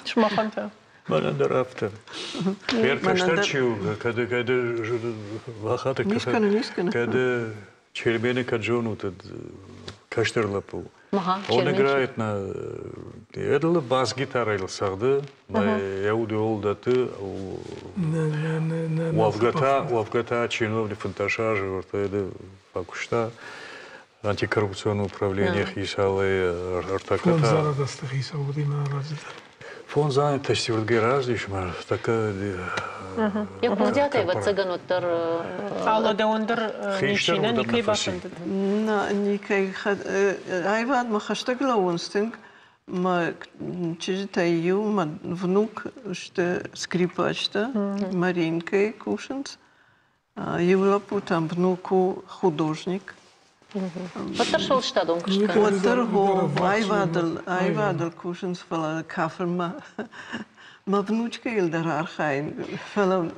Сымахӕн та? Мӕнӕн дӕр афтӕ. Кӕстӕр чи у, кӕд кӕд вахаты кӕд Чермены кӕд зонут, кӕстӕр лӕппу. Он играет на Эдл бас-гитарайыл цӕгъды, йӕ удыл дӕтты. Уӕвгӕ та, уӕвгӕ та чиновник 15 азы ӕртӕ фӕкуыста антикоррупцион управление хицауӕй ӕртӕккӕ та. Фондз хицау уыди мӕ раздӕр. Фондз азы тестировгӕ раздис мӕ тӕккӕ. Йӕ курдиат ӕвӕццӕгӕн уӕддӕр. Алло, дӕуӕн дӕр ничи нӕ никӕй бафӕндыд? Нӕ, никӕй. Аивадмӕ хӕстӕг лӕууынц тынг. Мӕ чызджытӕй иу, мӕ внук сты скрипачтӕ, Маринкӕйы кусынц. Иу лӕппу та внук у художник. Уӕддӕр сфӕлдыстадон куыст кӕнынц. Уӕддӕр аивадыл, аивадыл кусынц, фӕлӕ кафынмӕ мӕ внучкӕйыл дӕр архайын, фӕлӕ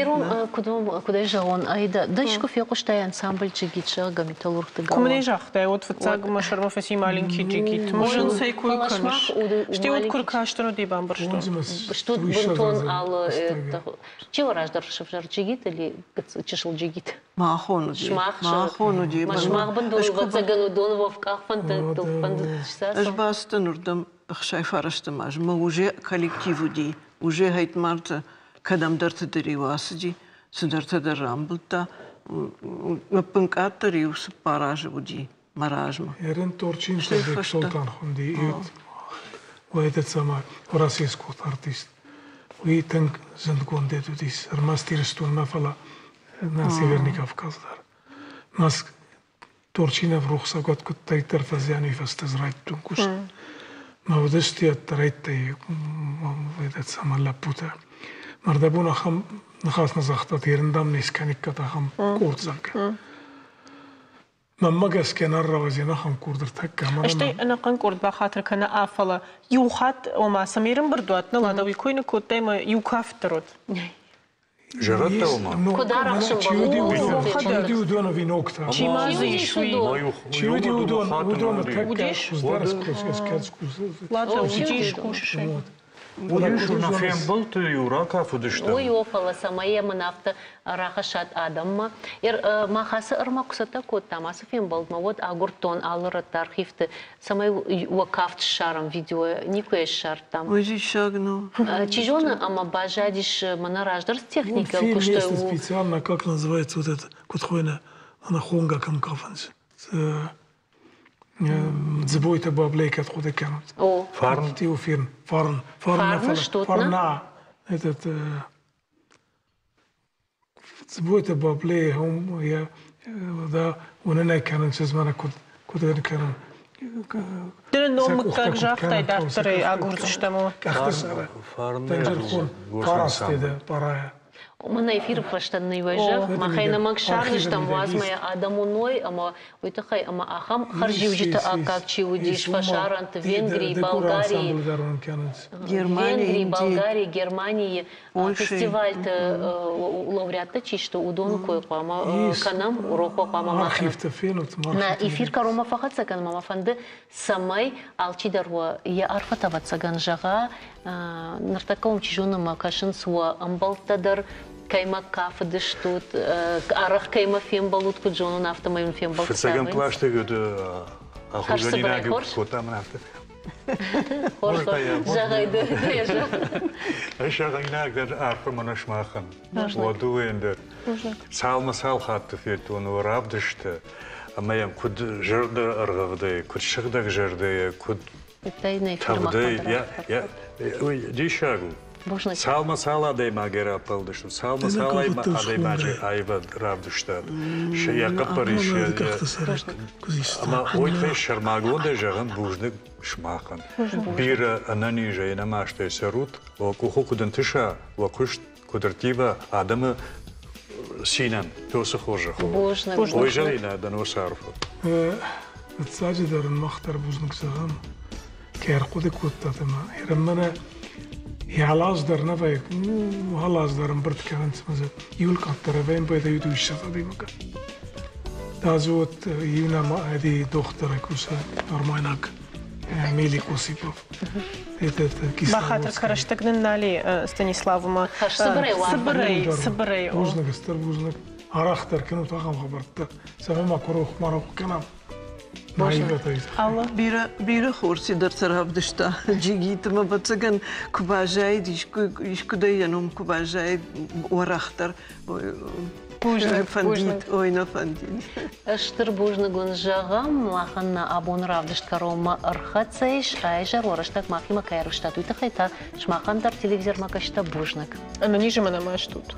Ирон, куыд куыд ӕй зӕгъон, ай дӕ искуы фехъуыстай ансамбль Джигит, зӕгъгӕ, металлургты галуан? Куы мын ӕй загътай, уӕд фыццаг мӕ сӕрмӕ фӕци маленький Джигит. Мызын цӕй кой кӕныс? Стӕй уӕд куы ркастӕн, уӕд ӕй бамбӕрстон. Стут бынтон алы Чи у раздӕр сывзӕр Джигит или чысыл Джигит? Махон уыди. Махон уыди. Сымах бындурыл ӕвӕццӕгӕн уыдон уӕвкъах фӕндӕгтыл фӕндыд. Ӕз бацыдтӕн уырдӕм 69 аз мӕ уже коллектив уыди, уже хӕйтмарты кӕдӕмдӕрты дӕр-иу ацыди, цыдӕртӕ дӕр рамбылдта. Ӕппынкъаддӕр иу 4 азы уыди мӕ размӕ. Ерен Торчин Солтан хунди уӕдӕ цӕмӕ Уӕрӕсейы артист. Уый тынг зындгонд уыдис ӕрмӕст Ирыстонмӕ, фӕлӕ на Северный Кавказ дӕр. Нас Торчинов рухсагуат куыддӕриддӕр фӕзианы фӕстӕ райдыдтон куыст. Мӕ уыдысты ӕддӕрӕйттӕй цӕмӕ лӕппутӕ. Мӕрдӕбон ахӕм ныхас нӕ загътат, ерындам не скӕниккат ахӕм къорд, зӕгъгӕ. Мӕнмӕ гӕсгӕ нӕ рауадзин ахӕм къорд ӕртӕккӕ. Стӕй ӕнӕхъӕн къорд бахатыр кӕна, фӕлӕ иу хатт, ома, цӕмӕй ӕрӕмбырд уат, нӕ лада уый кой ныккодтай ӕмӕ иу кафт дӕр уыд. Зӕрӕдтӕ ома? Куыд арӕхсын Чи уыдон ӕви ногтӕ? Чи ма дзы ис, уый? Чи уыди уыдон? Уыдоны тӕккӕ хуыздӕр Ладно, уыдис кусыс. Уыдис, нӕ фембӕлдты-иу ракафыдыстӕм. Уый о, фӕлӕ цӕмӕй йӕ мын афтӕ рахӕссат адӕммӕ. Мах ацы ӕрмӕг куы цӕттӕ кодтам ацы фембӕлдмӕ, уӕд агуырдтон алы рӕтты архивты, цӕмӕй уӕ кафт ссарӕм видеойӕ, никуы йӕ ссардтам. Уый диссаг нӕу. Чи зоны, ӕмӕ баззадис мӕнӕ раздӕр цы техникӕйыл куыстой. Специально, как называется вот это, куыд хуыйны, ана хонга кӕм кафынц. Дзыбойтӕ баблей кӕд хъуыды кӕнут. Фарн? Фирн. Фарн. Фарн, что Фарна. Этот Дзыбойтӕ баблей хом я да уынынӕй кӕнын чызмӕ куыд куыд кӕнын. Ды ном мыггаг загътай, дарддӕр ӕй агурдзыстӕм. Къӕхты сӕры. Дӕнджырхон парастеды парая. Мӕн эфиры фӕстӕ ныйвӕзӕг, махӕй нӕмӕг ссардзыстӕм, уадз мӕ йӕ адӕм уыной ӕмӕ уый тыххӕй ӕмӕ ахӕм хӕрзиуджыты аккаг чи уыдис фӕсарӕнты, Венгрийы, Болгарийы, Венгрийы, Болгарийы, Германийы фестивальты лауреаттӕ чи сты, уыдоны кой хъуамӕ кӕнӕм, урок хъуамӕ ма кӕнӕм. Нӕ эфир кӕронмӕ фӕхӕццӕ кӕнынмӕ мӕ фӕнды, цӕмӕй алчидӕр уӕ йӕ арфӕтӕ ӕвӕццӕгӕн зӕгъа. Ныртӕккӕ уым, чи зоны, мӕ кӕсынц уӕ ӕмбӕлттӕ дӕр, кӕимӕ кафыдыстут, арӕх кӕимӕ фембӕлут, куыд зонын, афтӕмӕй уын фембӕлдтытӕ Фыццагӕм къласты ахуыргӕнинаг кодтам афтӕ. Хорз, зӕгъай ды, зӕгъ. Зӕгъинаг дӕр арфӕ мӕнӕ сымахӕн. Уӕ дӕр. Цалмӕ цал хатты федтон уӕ равдысты, ӕмӕ йӕм куыд зӕрдӕ ӕргъӕвдӕй, куыд сыгъдӕг зӕрдӕйӕ, куыд тӕвдӕй, диссаг у. Цалмӕ цал адӕймагӕй раппӕлдысты, цалмӕ цал адӕймаджы аивад равдыстат, йӕ хъӕппӕрис, ӕмӕ уый тыххӕй сӕрмагондӕй зӕгъын бузныг сымахӕн. Бирӕ ӕнӕнизӕй, ӕнӕмастӕй цӕрут, уӕ къухы куыд ӕнтыса, уӕ куыст куыд ӕрттива адӕмы цинӕн, тосы хорзӕх. Бузныг. Ой, зӕринӕ, дӕ носы арфӕ. Фыццаджыдӕр ын мах дӕр бузныг зӕгъӕм, кӕй ӕрхъуыды кодтат ӕмӕ мӕнӕ йӕ дӕр нӕ вӕййы, алаз дӕр ӕмбырд кӕнынц ӕмӕ дзы иуыл къаддӕр ӕвӕйын байдайы 120 адӕймагӕн. Та дзы вот иунӕ ӕди дохтыры кусы армайнаг. Мелик Осипов. Бахатыр кӕн, рӕстӕг нын нал и, Станиславмӕ. Цыбырӕй. Цыбырӕй, цыбырӕй. Бузныг, стыр бузныг. Арӕхдӕр кӕнут ахӕм хабӕрттӕ, цӕмӕй ма куы рох ма рох кӕнӕм. Алла бирӕ бирӕ хорз цыдӕртӕ равдыста Джигиты мӕ ӕвӕццӕгӕн куы баззаид искуыдӕй йӕ ном куы баззаид уӕрӕхдӕр Бузныг, фӕндид, ой, нӕ фӕндид. Стыр бузныг уын зӕгъӕм, махӕн нӕ абоны равдыст кӕронмӕ ӕрхӕццӕ ис. Айзӕр уӕ рӕстӕг махимӕ кӕй ӕрвыстат, уый тыххӕй та сымахӕн дӕр телевизормӕ кӕсджытӕ бузныг. Ӕнӕнизы мӕ нӕма стут.